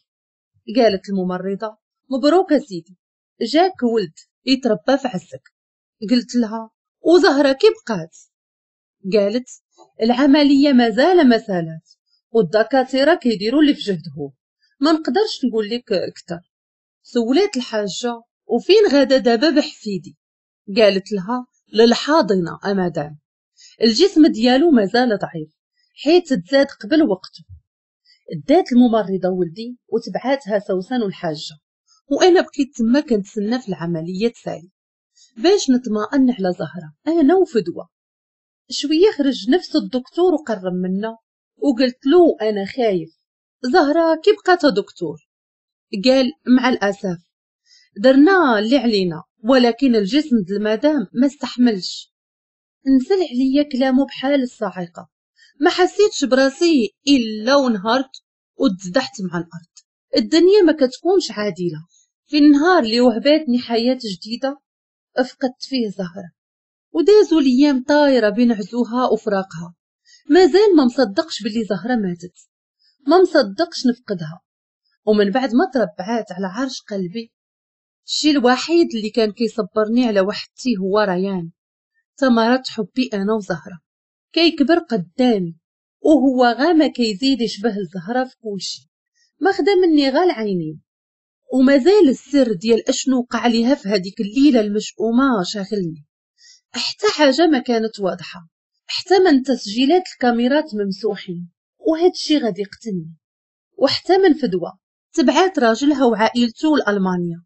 قالت الممرضة مبروك سيدي، جاك ولد يتربى في عزك. قلت لها وزهرة كي بقات؟ قالت العملية مازال ما سالات والدكاتره كيديروا اللي في جهدهم، ما نقدرش نقول لك اكثر. سولات الحاجة وفين غادا دابا بحفيدي؟ قالت لها للحاضنه امادام، الجسم ديالو مازال ضعيف حيت تزاد قبل وقته. دات الممرضة ولدي وتبعاتها سوسن والحاجة، وانا بقيت تما كنتسنى في العملية تسالي باش نطمئن على زهره انا وفدوى. شوية خرج نفس الدكتور وقرب منا وقلت له انا خايف، زهره كي بقات دكتور؟ قال مع الاسف درنا اللي علينا ولكن الجسم د المدام ما استحملش. نزل عليا كلامه بحال الصاعقة، ما حسيتش براسي الا ونهارت وتزدحت مع الارض. الدنيا ما كتكونش عادلة. في النهار اللي وهباتني حياة جديدة افقدت فيه زهره، ودازوا الايام طايره بين عزوها وفراقها. مازال ما مصدقش باللي زهره ماتت، ما مصدقش نفقدها. ومن بعد ما تربعات على عرش قلبي، الشيء الوحيد اللي كان كيصبرني على وحدتي هو ريان، ثمرة حبي انا وزهرة. كيكبر قدامي وهو غا ما كيزيد يشبه الزهرة في كلشي، ما خدا مني غا العينين. ومازال السر ديال اشنو وقع ليها في هذيك الليلة المشؤومه شاغلني. حتى حاجة ما كانت واضحة، حتى من تسجيلات الكاميرات ممسوحين، وهذا الشيء غادي يقتلني. وحتى من فدوى تبعات راجلها وعائلته لالمانيا،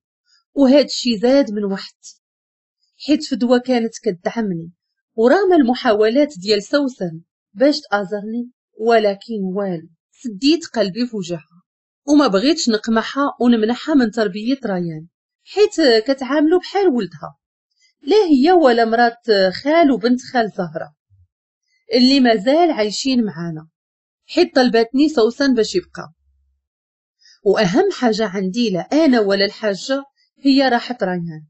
وهذا الشيء زاد من وحدتي، حيت فدوى كانت كدعمني ورغم المحاولات ديال سوسن باش تآزرني، ولكن والو، سديت قلبي في وجهها وما بغيتش نقمعها ونمنحها من تربية ريان، حيت كتعاملو بحال ولدها، لا هي ولا مرات خال وبنت خال زهرة اللي مازال عايشين معانا، حيت طلبتني سوسن باش يبقى. واهم حاجة عندي لا انا ولا الحاجة هي راحة ريان،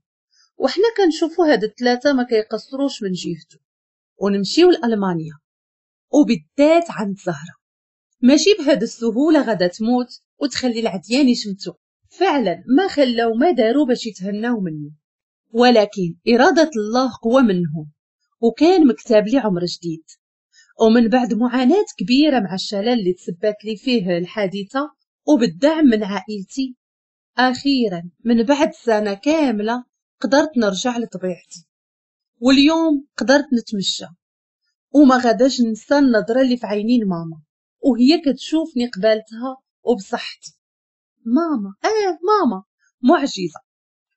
وحنا كنشوفوا هاد الثلاثة ما كيقصروش من جهته. ونمشيو لألمانيا وبالذات عند زهرة، ماشي بهاد السهولة غادا تموت وتخلي العديان يشمتو. فعلا ما خلاو ما داروا باش يتهناو مني، ولكن إرادة الله قوة منهم، وكان مكتاب لي عمر جديد. ومن بعد معاناة كبيرة مع الشلل اللي تسبت لي فيه الحادثة وبالدعم من عائلتي، أخيرا من بعد سنة كاملة قدرت نرجع لطبيعتي، واليوم قدرت نتمشى وما غاداش ننسى النظرة اللي في عينين ماما وهي كتشوفني قبالتها وبصحتي. ماما، اه ماما، معجزة.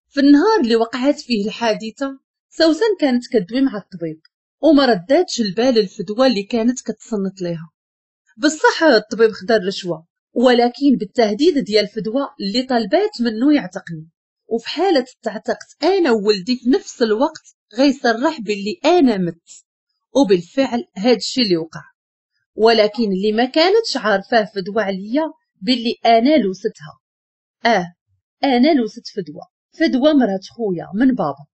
في النهار اللي وقعت فيه الحادثة سوسن كانت كدوي مع الطبيب وما رداتش البال الفدوى اللي كانت كتصنت ليها. بصح الطبيب خدا الرشوة، ولكن بالتهديد ديال الفدوى اللي طلبات منه يعتقني، وفي حالة تعتقت أنا وولدي في نفس الوقت غيصرح باللي أنا مت. وبالفعل هاد الشي اللي وقع، ولكن اللي ما كانتش عارفاه فدوى عليا باللي أنا لوستها. آه أنا لوست فدوى، فدوى مرات خويا من بابا.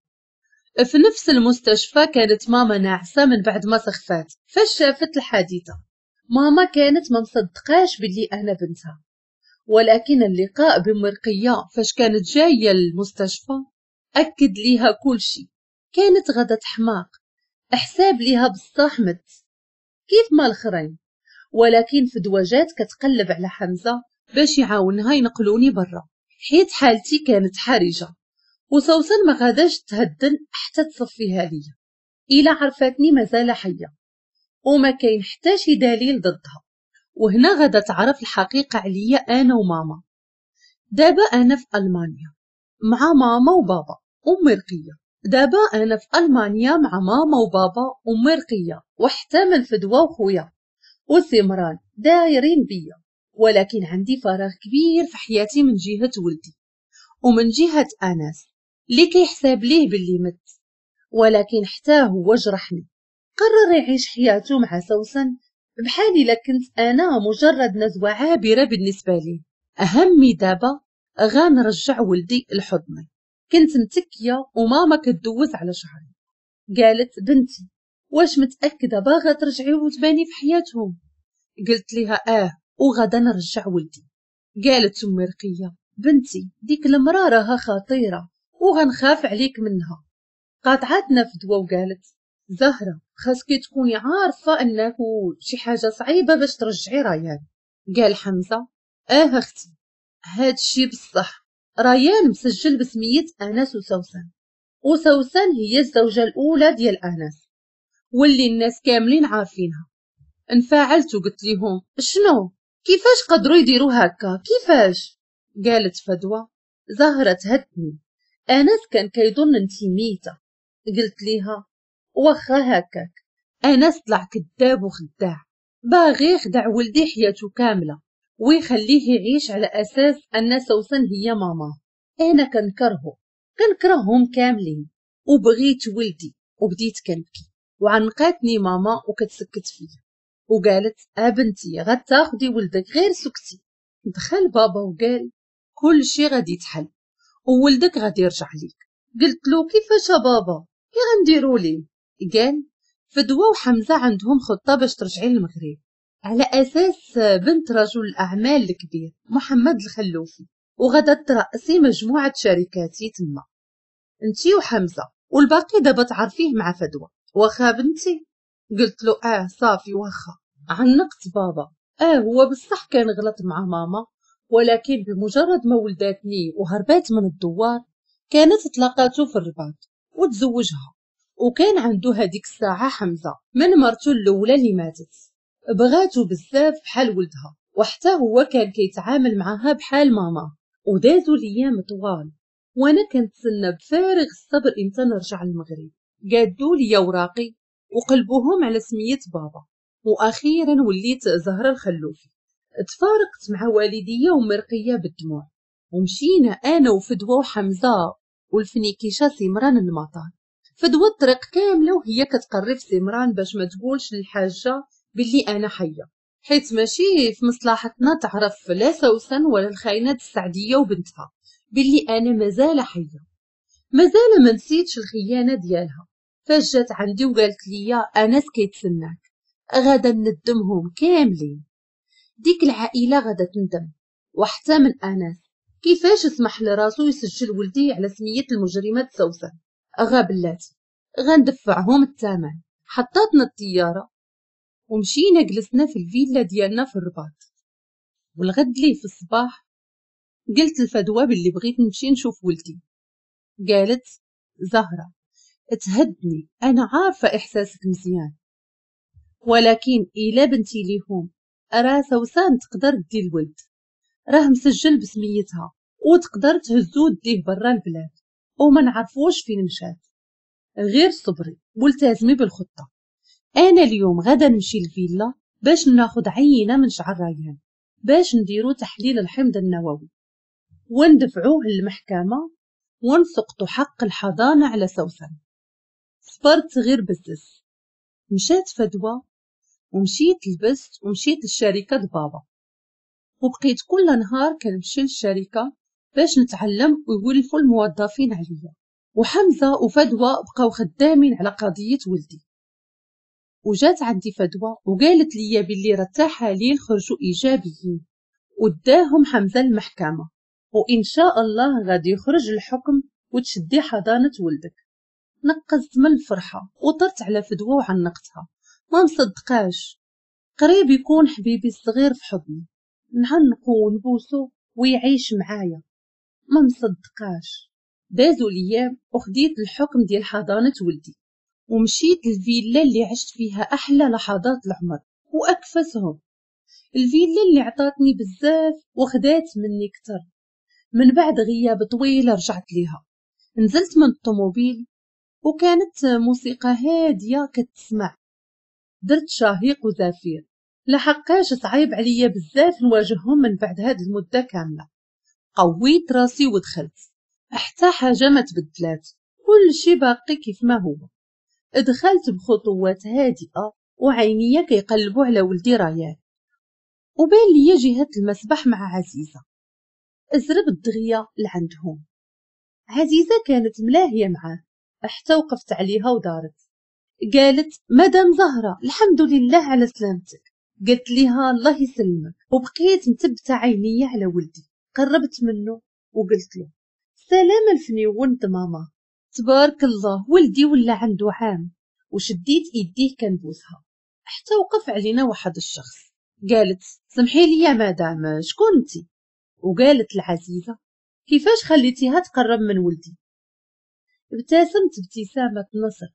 في نفس المستشفى كانت ماما ناعسة من بعد ما سخفات فاش شافت الحادثة. ماما كانت ما مصدقاش باللي أنا بنتها، ولكن اللقاء بمرقية فاش كانت جاية للمستشفى أكد ليها كل شيء. كانت غدا حماق، حساب ليها بصح مت كيف ما الآخرين، ولكن فدوى جات كتقلب على حمزة باش يعاونها ينقلوني برا، حيت حالتي كانت حرجة، وسوسن ما غاداش تهدن حتى تصفيها ليا إلا عرفتني مازال حية وما كاين حتى شي دليل ضدها. وهنا غادا تعرف الحقيقة عليا أنا وماما. دابا أنا في ألمانيا مع ماما وبابا وأمي رقية. دابا أنا في ألمانيا مع ماما وبابا وأمي رقية وحتى من فدوى وخويا وسمران دايرين بيا، ولكن عندي فراغ كبير في حياتي من جهة ولدي ومن جهة أنس اللي كيحساب ليه باللي مت، ولكن حتى هو جرحني. قرر يعيش حياته مع سوسن بحال إلا كنت أنا مجرد نزوة عابرة بالنسبة ليه. أهمي دابا غنرجع ولدي لحضني. كنت متكية وماما كدوز على شعري، قالت بنتي واش متأكدة باغا ترجعي وتباني في حياتهم؟ قلت لها آه وغدا نرجع ولدي. قالت أمي رقية بنتي ديك المرأة راها خطيرة وغنخاف عليك منها. قاطعتنا فدوى وقالت زهرة خاصك تكوني عارفة أنه شي حاجة صعيبة باش ترجعي ريان. قال حمزة آه أختي هاد الشي بصح، ريان مسجل بسمية أنس وسوسن، وسوسن هي الزوجة الأولى ديال أنس واللي الناس كاملين عارفينها. انفعلت وقلت لهم شنو كيفاش قدروا يديروا هكا كيفاش؟ قالت فدوى زهرة تهدني، أنس كان كيظن انتي ميتة. قلت ليها واخا هكاك أنس طلع كذاب وخداع، باغي يخدع ولدي حياته كاملة ويخليه يعيش على أساس أن سوسن هي ماما. أنا كنكرهه كنكرههم كاملين وبغيت ولدي. وبديت كنبكي وعنقاتني ماما وكتسكت فيا وقالت أبنتي غتاخدي ولدك غير سكتي. دخل بابا وقال كل شي غادي يتحل وولدك غادي يرجع ليك. قلت له كيفاش بابا كي غنديروا ليه؟ قال فدوى وحمزة عندهم خطة باش ترجعي للمغرب على أساس بنت رجل الأعمال الكبير محمد الخلوفي، وغدا ترأسي مجموعة شركاتي تما انتي وحمزة، والباقي دابا تعرفيه مع فدوى. واخا بنتي؟ قلت له اه صافي واخا. عنقت بابا، اه هو بصح كان غلط مع ماما، ولكن بمجرد ما ولداتني وهربات من الدوار كانت تلاقاتو في الرباط وتزوجها، وكان عنده هذيك الساعة حمزة من مرته الأولى اللي ماتت. بغاتو بزاف بحال ولدها، وحتى هو كان كيتعامل معها بحال ماما. ودازو الايام طوال وانا كنتسنى بفارغ الصبر امتى نرجع للمغرب. قادوا لي اوراقي وقلبوهم على سمية بابا، واخيرا وليت زهرة الخلوفي. تفارقت مع والدية ومرقية بالدموع، ومشينا انا وفدوى وحمزة والفنيكيشة سمران للمطار. فدوى الطريق كاملة وهي كتقرب سمران باش ما تقولش للحاجة باللي انا حية، حيت ماشي في مصلحتنا تعرف لا سوسن ولا الخاينات السعدية وبنتها باللي انا مازال حية. مازال ما نسيتش الخيانة ديالها. فاش جات عندي وقالت لي انس كيتسناك، غادا ندمهم كاملين، ديك العائلة غادا تندم، وحتى من انس كيفاش سمح لراسو يسجل ولدي على سمية المجرمات سوسن. غا بلاتي غندفعهم الثمن. حطاتنا الطيارة ومشينا جلسنا في الفيلا ديالنا في الرباط. والغد لي في الصباح قلت لفدوى باللي بغيت نمشي نشوف ولدي. قالت زهرة تهدني، أنا عارفة إحساسك مزيان، ولكن إلا بنتي ليهم راه سوسن تقدر دي الولد، راه مسجل بسميتها وتقدر تهزو ديه برا البلاد وما نعرفوش فين مشات. غير صبري والتزمي بالخطة. أنا اليوم غدا نمشي للفيلا باش ناخد عينة من شعر ريان باش نديرو تحليل الحمض النووي وندفعوه للمحكمة ونسقطو حق الحضانة على سوسن. صبرت غير بزز. مشات فدوى ومشيت لبست ومشيت للشركة بابا، وبقيت كل نهار كنمشي للشركة باش نتعلم ويولفوا الموظفين عليا. وحمزة وفدوى بقاو خدامين على قضية ولدي. وجات عندي فدوى وقالت لي باللي راه التحاليل خرجوا ايجابيين وداهم حمزة المحكمة، وان شاء الله غادي يخرج الحكم وتشدي حضانة ولدك. نقزت من الفرحة وطرت على فدوى وعنقتها، ما مصدقاش. قريب يكون حبيبي الصغير في حضني، نعنقو ونبوسو ويعيش معايا. ما مصدقاش. دازوا الايام وخديت الحكم ديال حضانة ولدي، ومشيت للفيلا اللي عشت فيها احلى لحظات العمر واكفسهم، الفيلا اللي عطاتني بزاف وخدات مني كتر. من بعد غياب طويل رجعت ليها. نزلت من الطوموبيل وكانت موسيقى هادية كتسمع. درت شهيق وزفير، لحقاش صعيب عليا بزاف نواجههم من بعد هاد المدة كاملة. قويت راسي ودخلت، حتى حاجة ما تبدلات، كل شي باقي كيف ما هو. دخلت بخطوات هادئة وعينيا كيقلبوا على ولدي ريان، وبان ليا جهة المسبح مع عزيزه. ازرب دغيا لعندهم. عزيزه كانت ملاهيه معاه حتى وقفت عليها ودارت. قالت مدام زهره الحمد لله على سلامتك. قلت ليها الله يسلمك، وبقيت متبته عينيا على ولدي. قربت منه وقلت له سلام الفنيون ماما، تبارك الله ولدي ولا عنده عام. وشديت ايديه كنبوسها حتى وقف علينا واحد الشخص. قالت سمحي لي يا مدام شكون انتي؟ وقالت العزيزة كيفاش خليتيها تقرب من ولدي؟ ابتسمت ابتسامة نصر.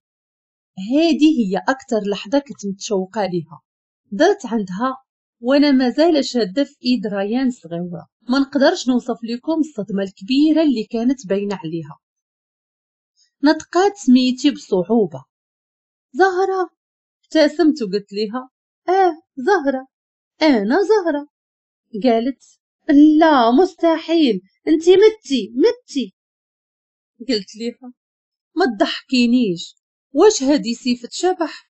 هذه هي اكثر لحظة كنت متشوقة ليها. درت عندها وانا مازال شاده في ايد ريان صغيرة. ما نقدرش نوصف لكم الصدمة الكبيرة اللي كانت باينة عليها. نطقات سميتي بصعوبة، زهره. ابتسمت وقلت لها اه زهره، انا زهره. قالت لا مستحيل، انتي متي متي. قلت لها ما تضحكينيش، واش هادي سيفة شبح؟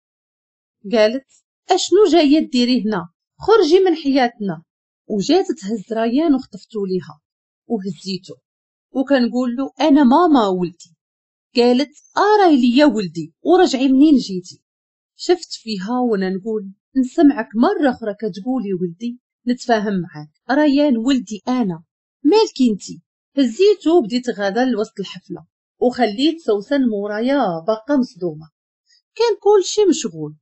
قالت اشنو جاية ديري هنا، خرجي من حياتنا. وجات تهز ريان وخطفتو ليها وهزيتو وكنقول له انا ماما ولدي. قالت اراي ليا ولدي ورجعي منين جيتي. شفت فيها وانا نقول نسمعك مرة اخرى كتقولي ولدي نتفاهم معاك، ريان ولدي انا، مالكي انتي؟ هزيتو وبديت غادا لوسط الحفلة وخليت سوسن مورايا باقا مصدومة. كان كلشي مشغول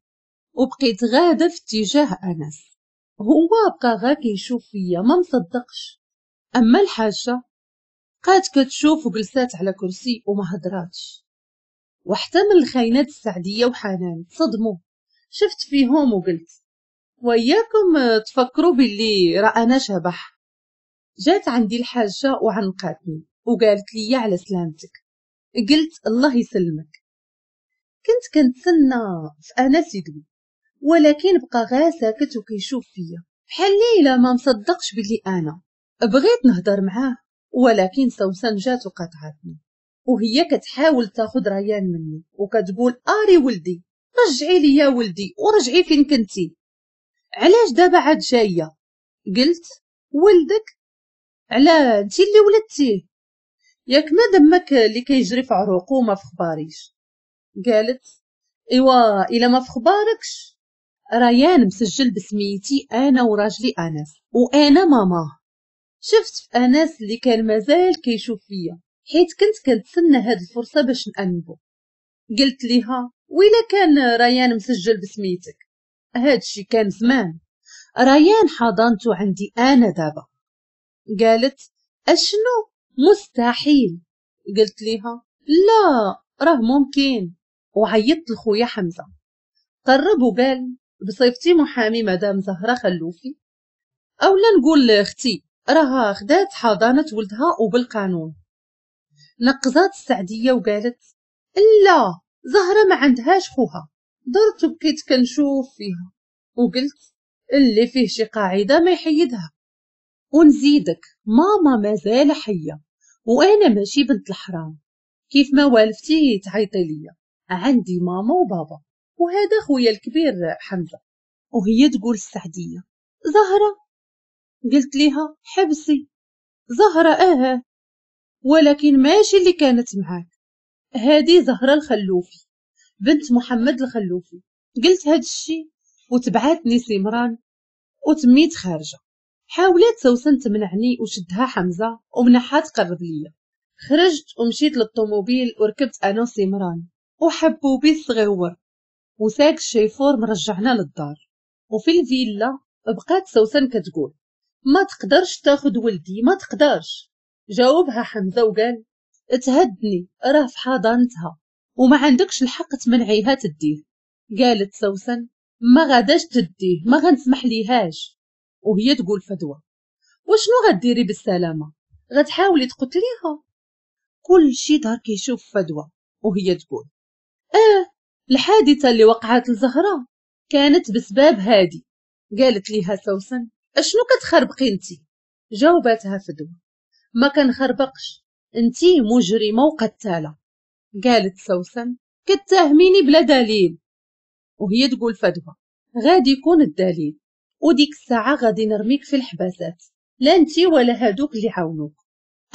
وبقيت غاده في اتجاه انس. هو بقى غا كيشوف فيا ما مصدقش. اما الحاجة بقات كتشوف وجلسات على كرسي وما هدراتش. وحتى من الخاينات السعديه وحنان تصدموا. شفت فيهم وقلت وياكم تفكروا باللي راه انا شبح. جات عندي الحاجة وعنقاتني وقالت لي على سلامتك. قلت الله يسلمك. كنت كنتسنى في انس يدوي، ولكن بقى غا ساكت وكيشوف فيا بحال ليلى ما مصدقش بلي انا. بغيت نهضر معاه ولكن سوسن جات وقطعتني وهي كتحاول تاخذ ريان مني وكتقول اري ولدي، رجعي لي يا ولدي ورجعي فين كنتي، علاش دابا عاد جاية؟ قلت ولدك؟ على انتي اللي ولدتيه، ياك ما دمك اللي كيجري في عروقو ما في خباريش. قالت ايوا الا ما في خباركش، ريان مسجل بسميتي انا وراجلي انس وانا ماماه. شفت في انس اللي كان مازال كيشوف فيا حيت كنت كنتسنى هاد الفرصة باش نأنبو. قلت ليها وإلا كان ريان مسجل بسميتك، هادشي كان زمان، ريان حضانته عندي انا دابا. قالت اشنو؟ مستحيل. قلت ليها لا راه ممكن. وعيطت لخويا حمزة. قرب وقال بصيفتي محامي مدام زهره خلوفي، اولا نقول لاختي راها خدات حضانة ولدها وبالقانون. نقزات السعديه وقالت لا زهره ما عندهاش خوها. درت وبقيت كنشوف فيها وقلت اللي فيه شي قاعدة ما يحيدها. ونزيدك ماما مازال حيه وانا ماشي بنت الحرام كيف ما والفتي تعيطي ليا، عندي ماما وبابا وهذا خويا الكبير حمزة. وهي تقول السعديه زهره. قلت ليها حبسي زهره اه ولكن ماشي اللي كانت معاك، هذه زهره الخلوفي بنت محمد الخلوفي. قلت هاد الشي وتبعاتني سمران وتميت خارجه. حاولت سوسن تمنعني وشدها حمزة ومنحها تقرب ليا. خرجت ومشيت للطوموبيل وركبت انا وسمران وحبوبي الصغيور وساق الشيفور مرجعنا للدار. وفي الفيلا بقات سوسن كتقول ما تقدرش تاخد ولدي، ما تقدرش. جاوبها حمزة وقال تهدني، راه في حضانتها وما عندكش الحق تمنعيها تديه. قالت سوسن ما غاداش تديه، ما غنسمح ليهاش. وهي تقول فدوى وشنو غديري بالسلامة؟ غتحاولي تقتليها؟ كل شي دار كيشوف فدوى وهي تقول اه الحادثة اللي وقعت لزهره كانت بسبب هادي. قالت ليها سوسن اشنو كتخربقي انتي؟ جاوباتها فدوى ما كنخربقش، انتي مجرمه وقتاله. قالت سوسن كتهميني بلا دليل. وهي تقول فدوى غادي يكون الدليل، وديك الساعة غادي نرميك في الحباسات، لا انتي ولا هادوك اللي عاونوك.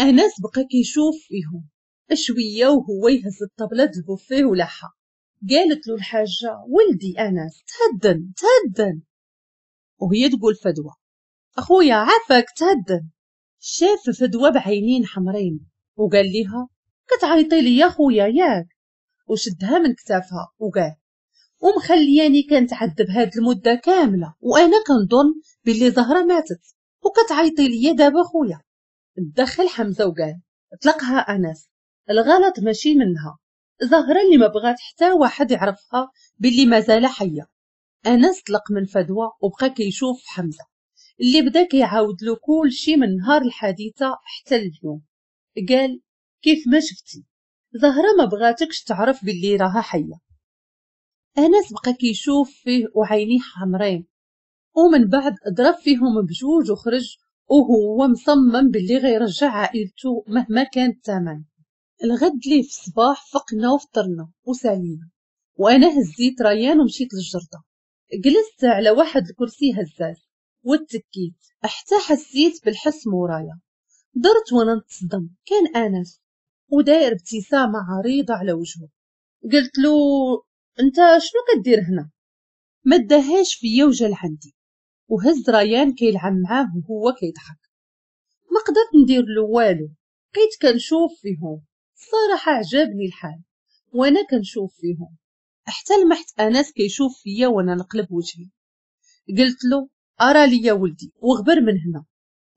انس بقى كيشوف فيهم شوية وهو يهز الطبلة البوفيه ولحها. قالت له الحاجة ولدي انس تهدن تهدن. وهي تقول فدوى اخويا عافاك تهدن. شاف فدوى بعينين حمرين وقال ليها كتعيطي لي يا خويا ياك؟ وشدها من كتافها وقال ومخلياني كنتعذب هاد المدة كاملة وانا كنظن باللي زهره ماتت وكتعيطي ليا دابا خويا. دخل حمزة وقال طلقها انس، الغلط ماشي منها، زهره اللي ما بغات حتى واحد يعرفها باللي مازال حيه. انس طلق من فدوى وبقى كيشوف حمزة اللي بدا كيعاود له كل شيء من نهار الحادثة حتى اليوم. قال كيف ما شفتي زهره ما بغاتكش تعرف باللي راها حيه. انس بقى كيشوف فيه وعينيه حمرين، ومن بعد ضرب فيهم بجوج وخرج وهو مصمم باللي غيرجع عائلته مهما كان الثمن. الغد ليه في الصباح فقنا وفطرنا وسالينا، وانا هزيت ريان ومشيت للجرده. جلست على واحد الكرسي هزاز واتكيت حتى حسيت بالحس مورايا. درت وانا نتصدم، كان انس وداير ابتسامة عريضة على وجهه. قلت له انت شنو كدير هنا؟ ما داهاش فيا وجا لعندي وهز ريان كيلعب معاه وهو كيضحك. ما قدرت ندير له والو، بقيت كنشوف فيهم. الصراحة عجبني الحال وانا كنشوف فيهم حتى لمحت انس كيشوف فيا وانا نقلب وجهي. قلت له ارى لي يا ولدي وغبر من هنا.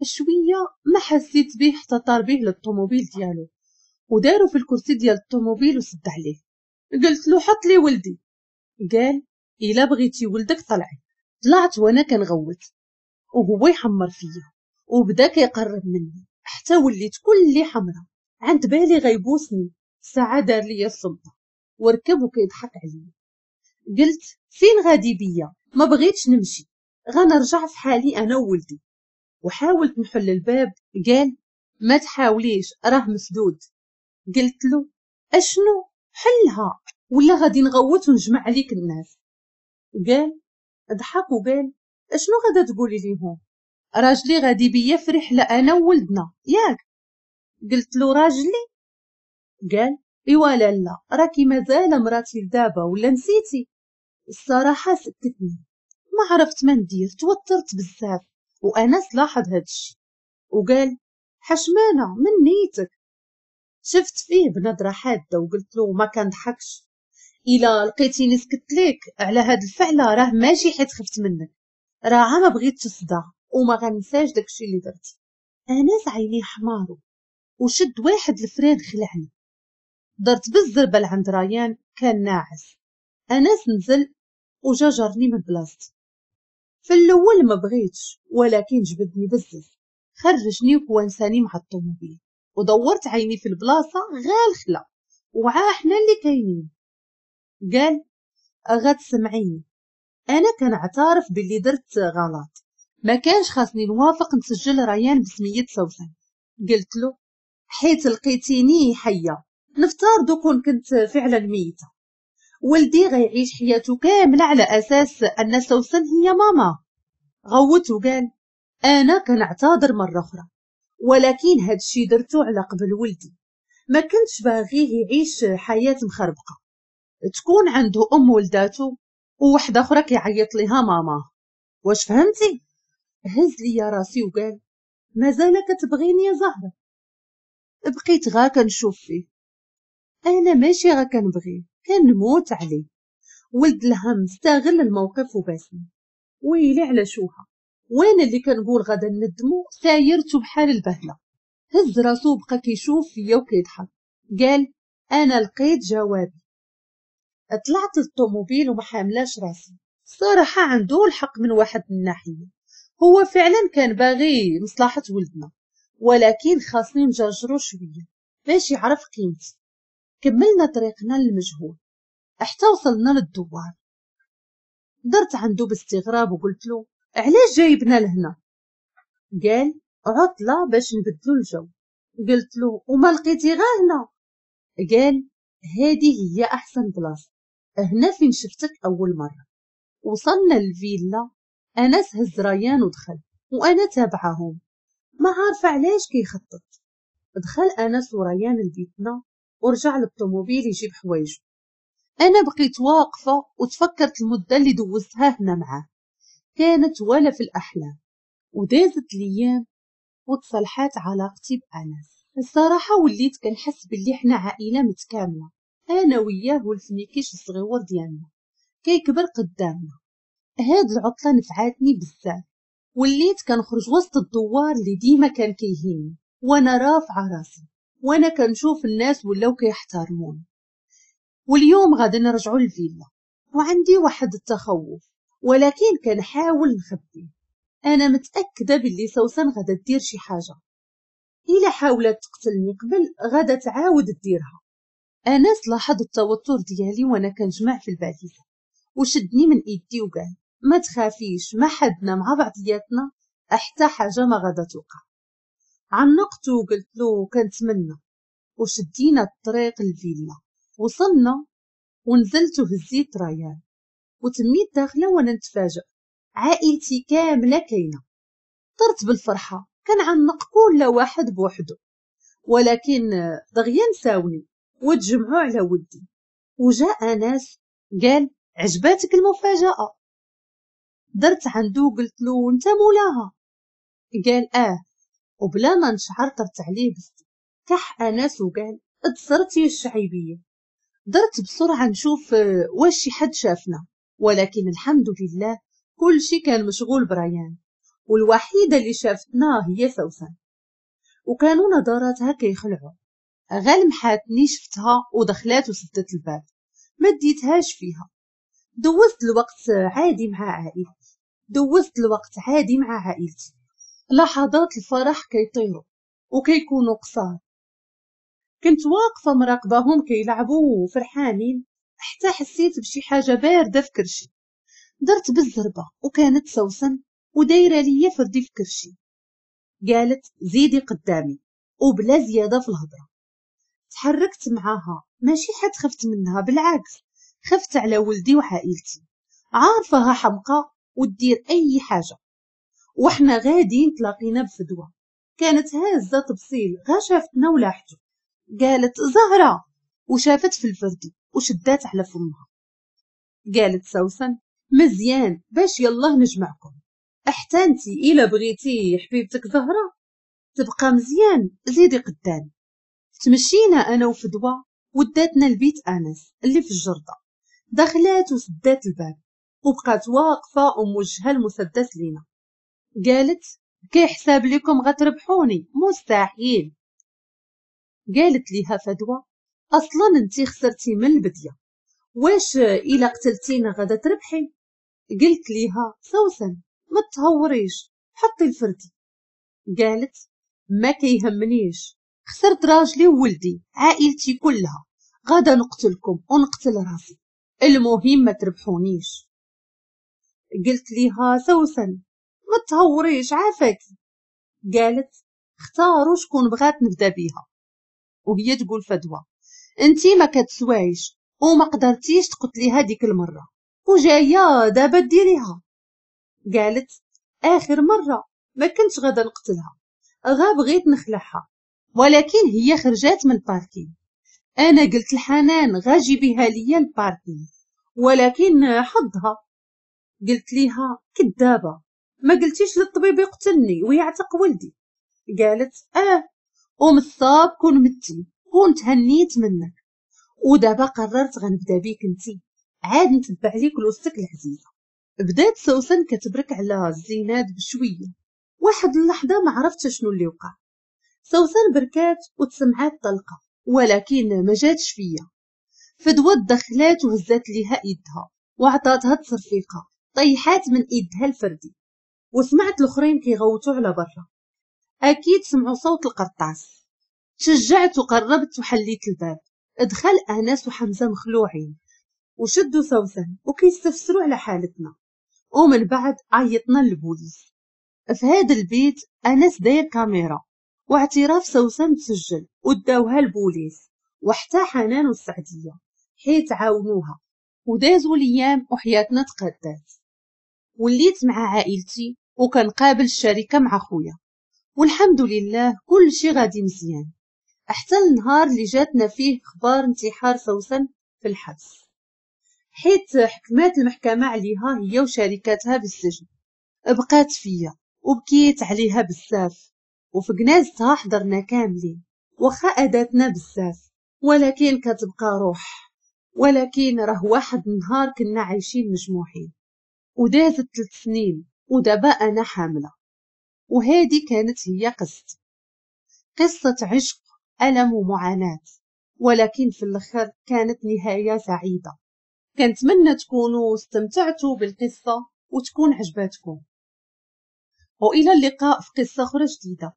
شوية ما حسيت به حتى طار به للطوموبيل ديالو ودارو في الكرسي ديال الطوموبيل وسد عليه. قلت له حط لي ولدي. قال الا بغيتي ولدك طلعي. طلعت وانا كنغوت وهو يحمر فيا وبدا كيقرب مني حتى وليت كلي حمرا، عند بالي غيبوسني. ساعة دار لي السلطة وركب وكيضحك عليا. قلت فين غادي بيا؟ ما بغيتش نمشي، غنرجع في حالي انا وولدي. وحاولت نحل الباب، قال ما تحاوليش راه مسدود. قلت له اشنو؟ حلها ولا غادي نغوت ونجمع عليك الناس. قال ضحك وقال اشنو غادا تقولي ليهم؟ راجلي غادي بيا في رحله انا وولدنا ياك؟ قلت له راجلي؟ قال ايوا لالا راكي مازال مراتي لدابا ولا نسيتي؟ الصراحة سكتني، ما عرفت ما ندير، توترت بزاف. وانس لاحظ هادشي وقال حشمانه من نيتك. شفت فيه بنظره حادة وقلت له ما كنضحكش، الا لقيتيني سكت ليك على هاد الفعلة راه ماشي حيت خفت منك، راه ما بغيتش تصدع وما غنساش داكشي اللي درتي. انس عينيه حمارو وشد واحد ال frein خلعني. درت بالزربه لعند ريان كان ناعس. انس نزل وجا جرني من بلاصتي. في الاول ما بغيتش ولكن جبدني بزز، خرجني وكوانساني مع الطوموبيل ودورت عيني في البلاصة غير الخلا وعا حنا اللي كاينين. قال غتسمعيني، انا كنعترف باللي درت غلط، ما كانش خاصني نوافق نسجل ريان بسميه سوسن. قلت له حيت لقيتيني حيه نفترض كون كنت فعلا ميته، ولدي غيعيش حياته كاملة على اساس ان سوسن هي ماما. غوت وقال انا كنعتذر مرة اخرى، ولكن هادشي درتو على قبل ولدي، ما كنتش باغية يعيش حياة مخربقه تكون عنده ام ولداتو ووحده اخرى كيعيط ليها ماما. واش فهمتي؟ هز ليا راسي وقال مازال كتبغيني يا زهره؟ بقيت غا كنشوف فيه، انا ماشي غا كنبغيه، كنموت عليه. ولد الهم استغل الموقف وباسني، ويلي على شوها، وانا اللي كنقول غادا ندمو سايرتو بحال البهله. هز راسو وبقى كيشوف فيا وكيضحك، قال انا لقيت جوابي. طلعت للطوموبيل وما حاملاش راسي. الصراحة عنده الحق من واحد الناحية، هو فعلا كان باغي مصلحة ولدنا، ولكن خاصني نجرجرو شوية باش يعرف قيمتي. كملنا طريقنا للمجهول حتى وصلنا للدوار. درت عنده باستغراب وقلت له علاش جايبنا لهنا؟ قال عطله باش نبدلو الجو. قلت له وما لقيتي غا هنا؟ قال هذه هي احسن بلاصة، هنا فين شفتك اول مرة. وصلنا للفيلا، انس هز ريان ودخل وانا تابعهم، ما عارفه علاش كيخطط. دخل انس وريان لبيتنا ورجع للطوموبيل يجيب حوايجو. انا بقيت واقفة وتفكرت المدة اللي دوزتها هنا معاه، كانت ولا في الاحلام. ودازت الايام وتصلحات علاقتي بانس. الصراحة وليت كنحس باللي حنا عائلة متكاملة، انا وياه والفنيكيش الصغيور ديالنا كيكبر قدامنا. هاد العطلة نفعاتني بزاف، وليت كنخرج وسط الدوار اللي ديما كان كيهيني وانا رافعه راسي، وانا كنشوف الناس ولاو كيحترموني. واليوم غادي نرجعوا للفيلا وعندي واحد التخوف، ولكن كنحاول نخبيه. انا متاكدة باللي سوسن غادا دير شي حاجة، الا حاولت تقتلني قبل غادا تعاود ديرها. انس لاحظ التوتر ديالي وانا كنجمع في الباليزه وشدني من ايدي وقال ما تخافيش، ما حدنا مع بعضياتنا حتى حاجة ما غادا توقع. عنقته وقلت له كنتمنى، وشدينا الطريق للفيلا. وصلنا ونزلت وهزيت ريان وتميت داخله وانا نتفاجئ عائلتي كاملة كاينه. طرت بالفرحه كنعنق كل واحد بوحده، ولكن دغيا نساوني وتجمعوا على ودي. وجاء انس قال عجباتك المفاجاة؟ درت عنده وقلت له انت مولاها؟ قال اه، وبلا ما نشعر طرت عليه بس. كح انس وقال اتصرتي الشعيبيه. درت بسرعة نشوف واش شي حد شافنا، ولكن الحمد لله كل شي كان مشغول بريان، والوحيده اللي شافتنا هي سوسن، وكانوا نظراتها كيخلعوا. غلمحاتني شفتها ودخلات وسدت الباب، ما ديتهاش فيها. دوزت الوقت عادي مع عائلتي، دوزت الوقت عادي مع عائلتي. لحظات الفرح كيطيروا وكيكونوا قصار. كنت واقفة مراقبهم كيلعبوا وفرحانين حتى حسيت بشي حاجة باردة في كرشي. درت بالزربه وكانت سوسن ودايره ليا فردي في كرشي. قالت زيدي قدامي وبلا زيادة في الهضرة. تحركت معاها، ماشي حد خفت منها، بالعكس خفت على ولدي وعائلتي. عارفاها حمقى ودير اي حاجة. وحنا غاديين تلاقينا بفدوه، كانت هازه تبصيل غا شافتنا ولاحتو. قالت زهره، وشافت في الفردي وشدات على فمها. قالت سوسن مزيان باش يلاه نجمعكم، حتى انتي الا بغيتي حبيبتك زهره تبقى مزيان زيدي قدامي. تمشينا انا وفدوى وداتنا لبيت انس اللي في الجرده. دخلات وسدات الباب وبقات واقفة وموجهه المسدس لينا. قالت كيحساب لكم غتربحوني؟ مستحيل. قالت ليها فدوى اصلا انتي خسرتي من البديه، واش الا قتلتينا غادا تربحي؟ قلت ليها سوسن ما تهوريش، حطي الفردي. قالت ما كيهمنيش، خسرت راجلي وولدي عائلتي كلها، غادا نقتلكم ونقتل راسي، المهم ما تربحونيش. قلت ليها سوسن ما تهوريش عافاكي. قالت اختاروا شكون بغات نبدا بيها. وهي تقول فدوى انتي ما كتسوايش وما قدرتيش تقتليها ديك المرة وجاية دابا ديريها. قالت اخر مرة ما كنتش غادا نقتلها، غا بغيت نخلعها، ولكن هي خرجات من ال parking. انا قلت لحنان غا جيبيها ليا ال parking، ولكن حظها. قلت ليها كدابه، ما قلتيش للطبيب يقتلني ويعتق ولدي؟ قالت اه، ومصاب كون متي كون تهنيت منك، ودابا قررت غنبدا بيك انتي، عاد نتبع ليك لوستك العزيزة. بدات سوسن كتبرك على الزينات بشوية. واحد اللحظة ما عرفت شنو اللي وقع، سوسن بركات وتسمعات طلقه ولكن ما جاتش فيا. فدوى دخلات وهزات ليها ايدها وعطاتها تصرفيقه، طيحات من ايدها الفردي. وسمعت الاخرين كيغوتوا على برا، اكيد سمعوا صوت القرطاس. شجعت وقربت وحليت الباب. دخل انس وحمزة مخلوعين وشدوا سوسن وكيستفسروا على حالتنا. ومن بعد عيطنا للبوليس. في هذا البيت انس داير كاميرا واعتراف سوسن تسجل وداوها البوليس، وحتى حنان والسعديه حيت عاونوها. ودازوا الايام وحياتنا تقدات، وليت مع عائلتي وكنقابل الشركة مع خويا، والحمد لله كل شيء غادي مزيان، حتى النهار اللي جاتنا فيه خبار انتحار سوسن في الحبس، حيت حكمات المحكمة عليها هي وشركاتها بالسجن. بقات فيا وبكيت عليها بزاف، وفي جنازتها حضرنا كاملين، واخا أداتنا بزاف ولكن كتبقى روح. ولكن راه واحد النهار كنا عايشين مجموعين، ودازت ثلاث سنين ودابا أنا حاملة. وهذه كانت هي قصتي، قصة عشق، ألم ومعاناة، ولكن في الآخر كانت نهاية سعيدة. كنتمنى تكونوا استمتعتوا بالقصة وتكون عجباتكم، وإلى اللقاء في قصة أخرى جديدة.